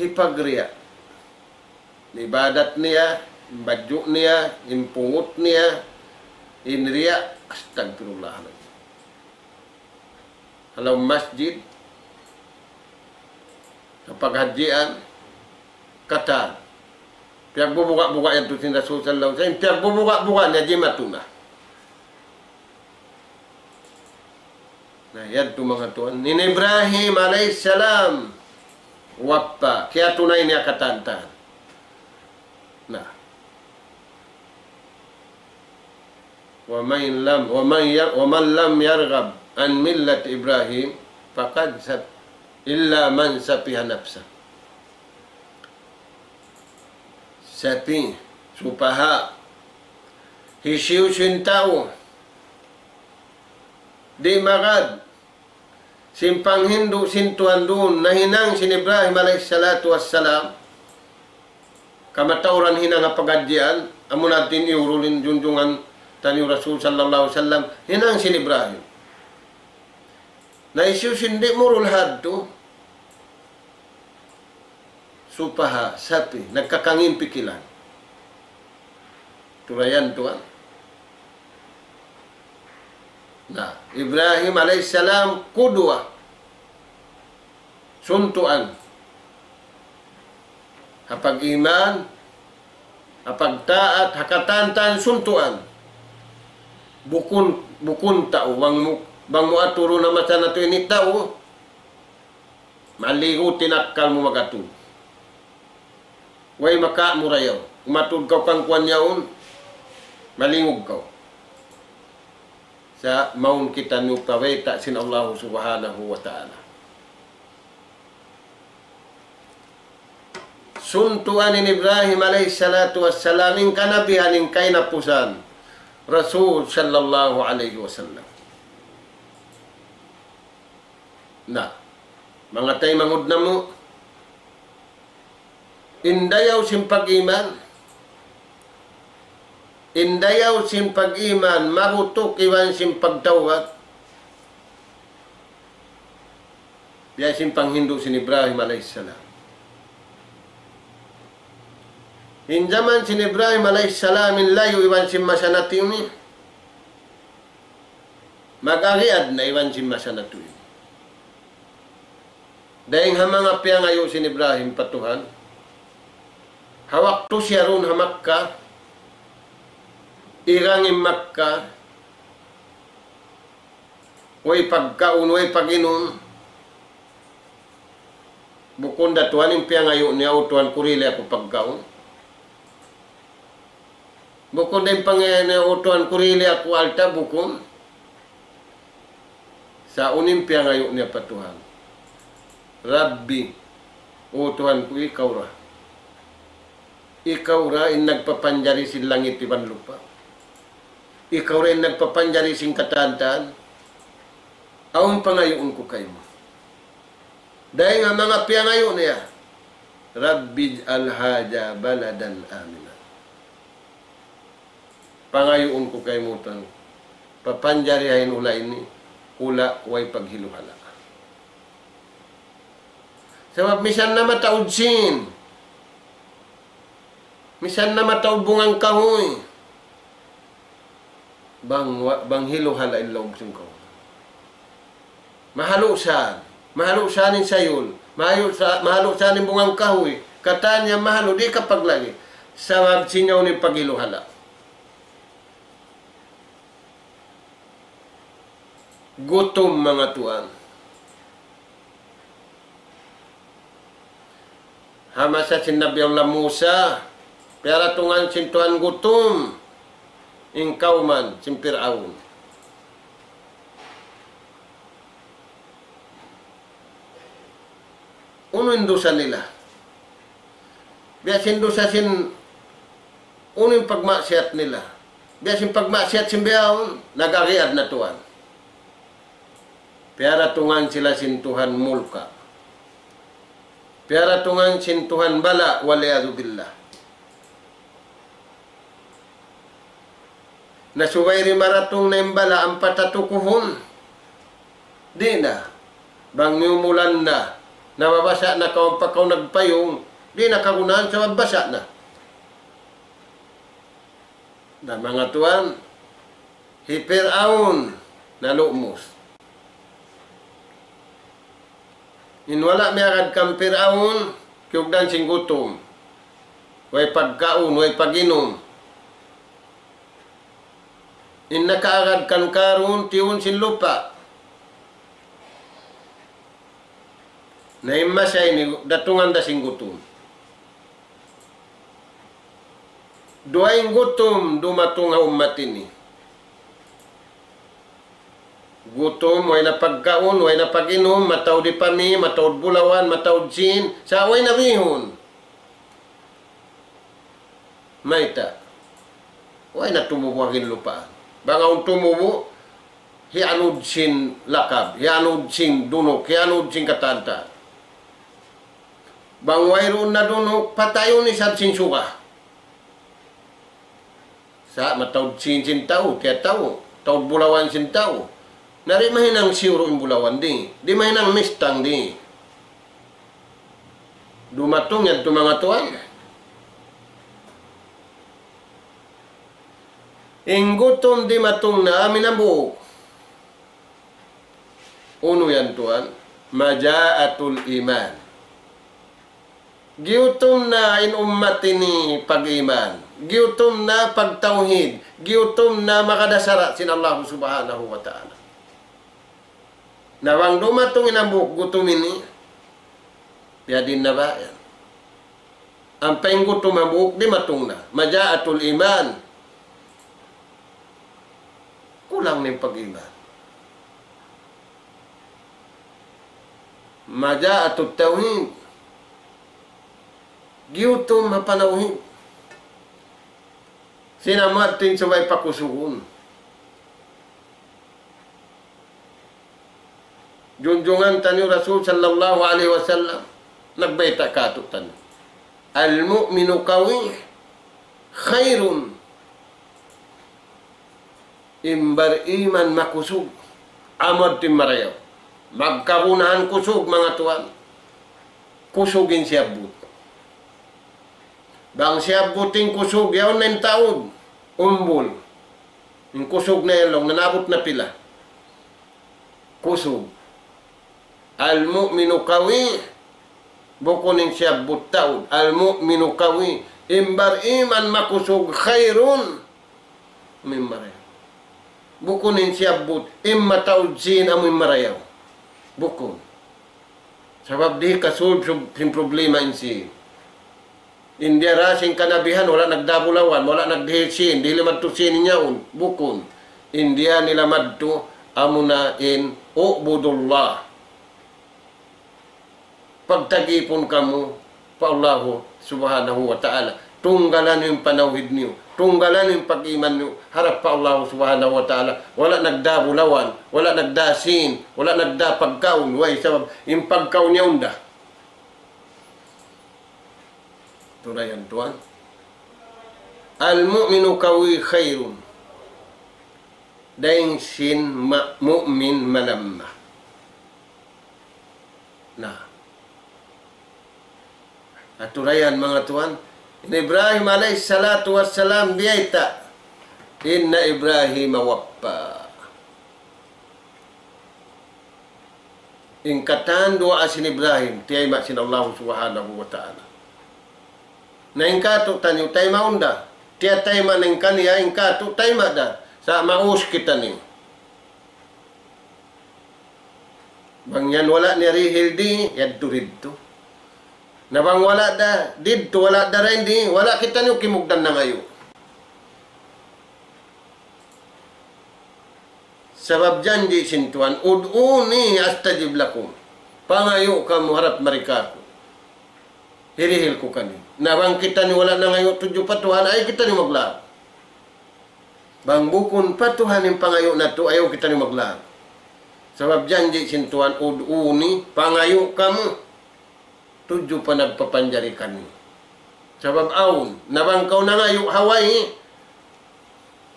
Hipagriya'. In ibadat niya, in badju' niya, in pungut niya, in riya', astagfirullahaladzim. Ha lawm masjid, ha paghadjian, katan. Piyagbubuga'-buga' yadtu sin Rasul sallallahu alayhi wasallam. Piyagbubuga'-buga' niya jimatu na. Na, yadtu manga tuwan. In Ibrahim alayhis salam, wappa. Kiyatunay niya katan-katan. Na. ومن لم، ومن ي-، ومن لم يرغب عن ملة إبراهيم فقد سف-، إلا من سفه نفسه. Safi, supaha. Hisiyu-siyu in tau di' magad sin panghindu' sin Tuhan duun, nahinang sin Ibrahim alayhis salatu wassalam, kamatauran hinang ha pagadjian, amuna in iyurul in junjungan taniyu Rasul sallallahu alayhi wasallam, hinang sin Ibrahim. Na hisiyu-siyu in di' murul hadtu, supaha, safi, nagkakangin pikilan. Turayan tuwan. Na, Ibrahim alayhis salam, kudwa. Suntuan. Ha pag-iman, ha pagtaat, ha katan-katan suntuan. Bukun, bukun tau, bang mu, bang mu aturun ha masa natu' ini tau, maligu in akkal mu mag-atud. Way makaamura yaun. Umatud kaw kan kuwan yaun, malingug kaw. Sa' mawn kitaniyu pa bayta' sin Allah subhanahu wa ta'ala. Suntuan in Ibrahim alayhis salatu wassalam, in kanabihan, in kahinapusan, Rasul sallallahu alayhi wasallam. Na, manga taymanghud namu', in dayaw sin pag-iman, in dayaw sin pag-iman, mabutuk iban sin pagtawbat, biya' sin panghindu' sin Ibrahim alayhis salam. In jaman sin Ibrahim alayhis salam, in layu' iban sin masa natu' ini, mag-agiad na iban sin masa natu' ini. Dayng ha manga piyangayu' sin Ibrahim pa Tuhan, ha waktu siya duun ha Makkah, igang in Makkah, Way pagkaun, way pag-inum. Bukun da Tuhan in piyangayu' niya, "O Tuhan, kurili aku pagkaun." Bukun da in pangayu' niya, "O Tuhan, kurili aku alta'," bukun. Sa' unu in piyangayu' niya pa Tuhan? "Rabbi, O Tuhan ku, ikaw ra. Ikaw ra in nagpapanjari sin langit iban lupa'. Ikaw ra in nagpapanjari sin katan-katan. Awn pangayuun ku kaymu." Dayn ha manga piyangayu' niya, "Rabbi ij'al hadha baladan amina." Pangayuun ku kaymu, Tuhan, papanjariha in hula' ini, hula' way paghilu-hala'. Sabab misan na mataud sin, misan na mataud bunga kahuy, bang wa-, bang hilu-hala' in lawm sin kahuy. Mahalu' sa, mahalu' sa in sayul, mahalu' sa, mahalu' sa in bunga kahuy, katan niya mahalu', di' kapaglagi'. Sabab sin yaun in paghilu-hala'. Gutum, manga tuwan. Ha masa sin Nabi Allah Musa, piyaratungan sin Tuhan gutum in kawman sin Pir'aun. Unu in dusa nila? Biya' sin dusa sin, unu in pagmaksiyat nila? Biya' sin pagmaksiyat sin bihaun, nag-agiad na tuwan. Piyaratungan sila sin Tuhan mulka'. Piyaratungan sin Tuhan bala', wal iyadhu billah. Na subay di' maratung na in bala' ampa tatukuhun. Di' na. Bang miyumulan na, nababasa' na kaw ampa kaw nagpayung, di' na kagunahan sabab basa' na. Na manga tuwan, hi Pir'aun nalumus. In wala' miyagad kan Pir'aun, kiyugdan sin gutum. Way pagkaun, way pag-inum. In nakaagad kan Karun, tiyun sin lupa'. Na in masa ini, datungan da sin gutum. Duwa in gutum dumatung ha ummat ini. Gutum, way na pagkaun, way na pag-inum, mataud ipami, mataud bulawan, mataud sin, sa' way na bihun. Mayta'? Way na tumubu' ha ginlupaan. Bang awn tumubu', hiyanud sin lakab, hiyanud sin dunuk, hiyanud sin katan-katan. Bang wayruun na dunuk, patayun isab sin suga. Sa' mataud sin, sin tau, tiyatau, taud bulawan sin tau. Na di' mahinang siyuru' in bulawan di', di' mahinang mistang di'. Dumatung yan tu manga tuwan. In gutum dimatung na amin hambuuk. Unu yan tuwan? Maja'atul iman. Giyutum na in ummat ini pag-iman. Giyutum na pagtawhid. Giyutum na makadasara' sin Allah Subhanahu wa Ta'ala. Na bang dumatung in hambuuk gutum ini, biyadiin na ba yan? Ampa in gutum hambuuk dimatung na. Maja'atul iman. Kulang na in pag-iman. Maja'atut tawhid. Giyutum ha panawhid. Sin amu yadtu in subay pakusugun. Junjungan taniyu Rasul sallallahu alayhi wasallam, nagbayta' kātu'niyu. المؤمن القوي خير. In bar-iman makusug, amu yadtu in marayaw. Magkagunahan kusug, manga tuwan. Kusug in siyabbut. Bang siyabbut in kusug, yaun na in taud, umbul. In kusug na yan laung, nanabut na pila. Kusug. المؤمن القوي, bukun in siyabbut taud. المؤمن القوي, in bar-iman makusug, خير, mimbar. Bukun in siyabbut, in mataud sin amu in marayaw. Bukun. Sabab di' kasulb sub-, sin problema in sin. In diyara sin kanabihan, wala' nagdabulawan, wala' nagdihil sin, dihil madtu sin in yaun. Bukun. In diyara nila madtu, amuna in اعبدوا الله. Pagtagipun kamu pa Allahu Subhanahu wa Ta'ala. Tunggalan niyu in panawhid niyu. Tunggalan niyu in pag-iman niyu harap pa Allahu Subhanahu wa Ta'ala. Wala' nagdabulawan, wala' nagdasin, wala' nagdapagkaun. Way sabab, in pagkaun niya unda. Turayan tuwan. المؤمن القوي خير. Dayn sin ma-, mu'min malamma. Na. Aturayan manga tuwan, in Ibrahim alayhi salatu wassalam biyayta', إن إبراهيم وفى. In katan duwaa sin Ibrahim, tiyayma' sin Allah Subhanahu wa Ta'ala. Na in katu' taniyu taymaun da, tiyatayma' na in kaniya, in katu' tayma' da, sa' maus kitaniyu. Bang yan wala' niya dihil di, yadtu didtu. Na bang wala' da didtu, wala' da dayn di, wala' kitaniyu kimugdan nangayu'. Sabab janji' sin Tuhan, ادعوني أستجب لكم. Pangayu' kamu harap mari kāku'. Hirihil ku kaniyu. Na bang kitaniyu wala' nangayu' tudju pa Tuhan, ayaw kitaniyu maglaung. Bang bukun pa Tuhan in pangayu' natu', ayaw kitaniyu maglaung. Sabab janji' sin Tuhan, ادعوني, pangayu' kamu. Tudju pa nagpapanjari kaniyu. Sabab awn, na bang kaw nangayu' ha way,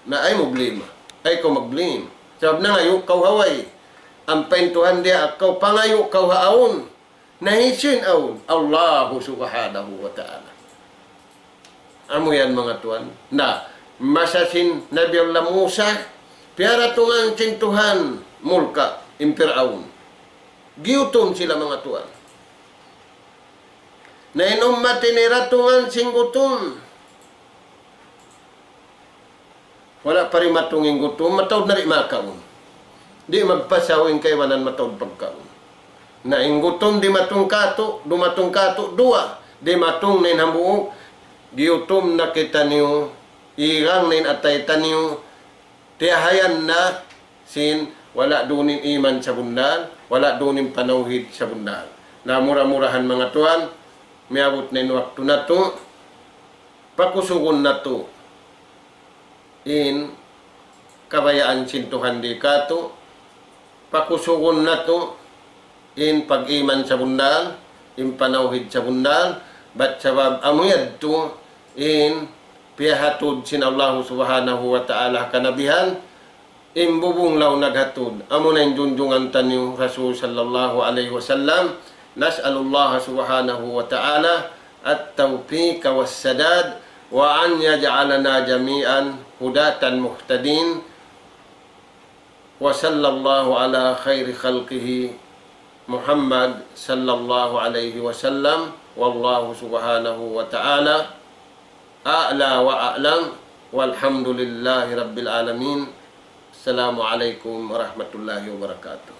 na ayaw mu blame. Ayaw kaw mag-blame. Sabab nangayu' kaw ha way. Ampa in Tuhan diyaak kaw, pangayu' kaw ha awn. Na hisiyu in awn? Allahu Subhanahu wa Ta'ala. Amu yan manga tuwan. Na, masa sin Nabi Allah Musa, piyaratungan sin Tuhan mulka' in Fir'aun. Giyutum sila manga tuwan. Na in ummat ini ratungan sin gutum. Wala' pa dimatung in gutum, mataud na di' makaun. Di' magpasaw in kaibanan mataud pagkaun. Na in gutum dimatung kātu', dumatung kātu', duwa, dimatung na in hambuuk, giyutum na kitaniyu, igang na in atay taniyu, tiyahayan na sin wala' duun in iman sabunnal, wala' duun in panawhid sabunnal. Na mura-murahan manga tuwan, miyabut na in waktu natu', pakusugun natu' in kabayaan sin Tuhan di kātu', pakusugun natu' in pag-iman sabunnal, in panawhid sabunnal, bat sabab amu yadtu in piyahatud sin Allahu Subhanahu wa Ta'ala kanabihan, in bubung laung naghatud, amuna in junjungan taniyu Rasul sallallahu alayhi wasallam. نسأل الله سبحانه وتعالى التوفيق والسداد، وأن يجعلنا جميعا هداة مهتدين. وصلى الله على خير خلقه محمد صلى الله عليه وسلم. والله سبحانه وتعالى أعلى وأعلم. والحمد لله رب العالمين. السلام عليكم ورحمة الله وبركاته.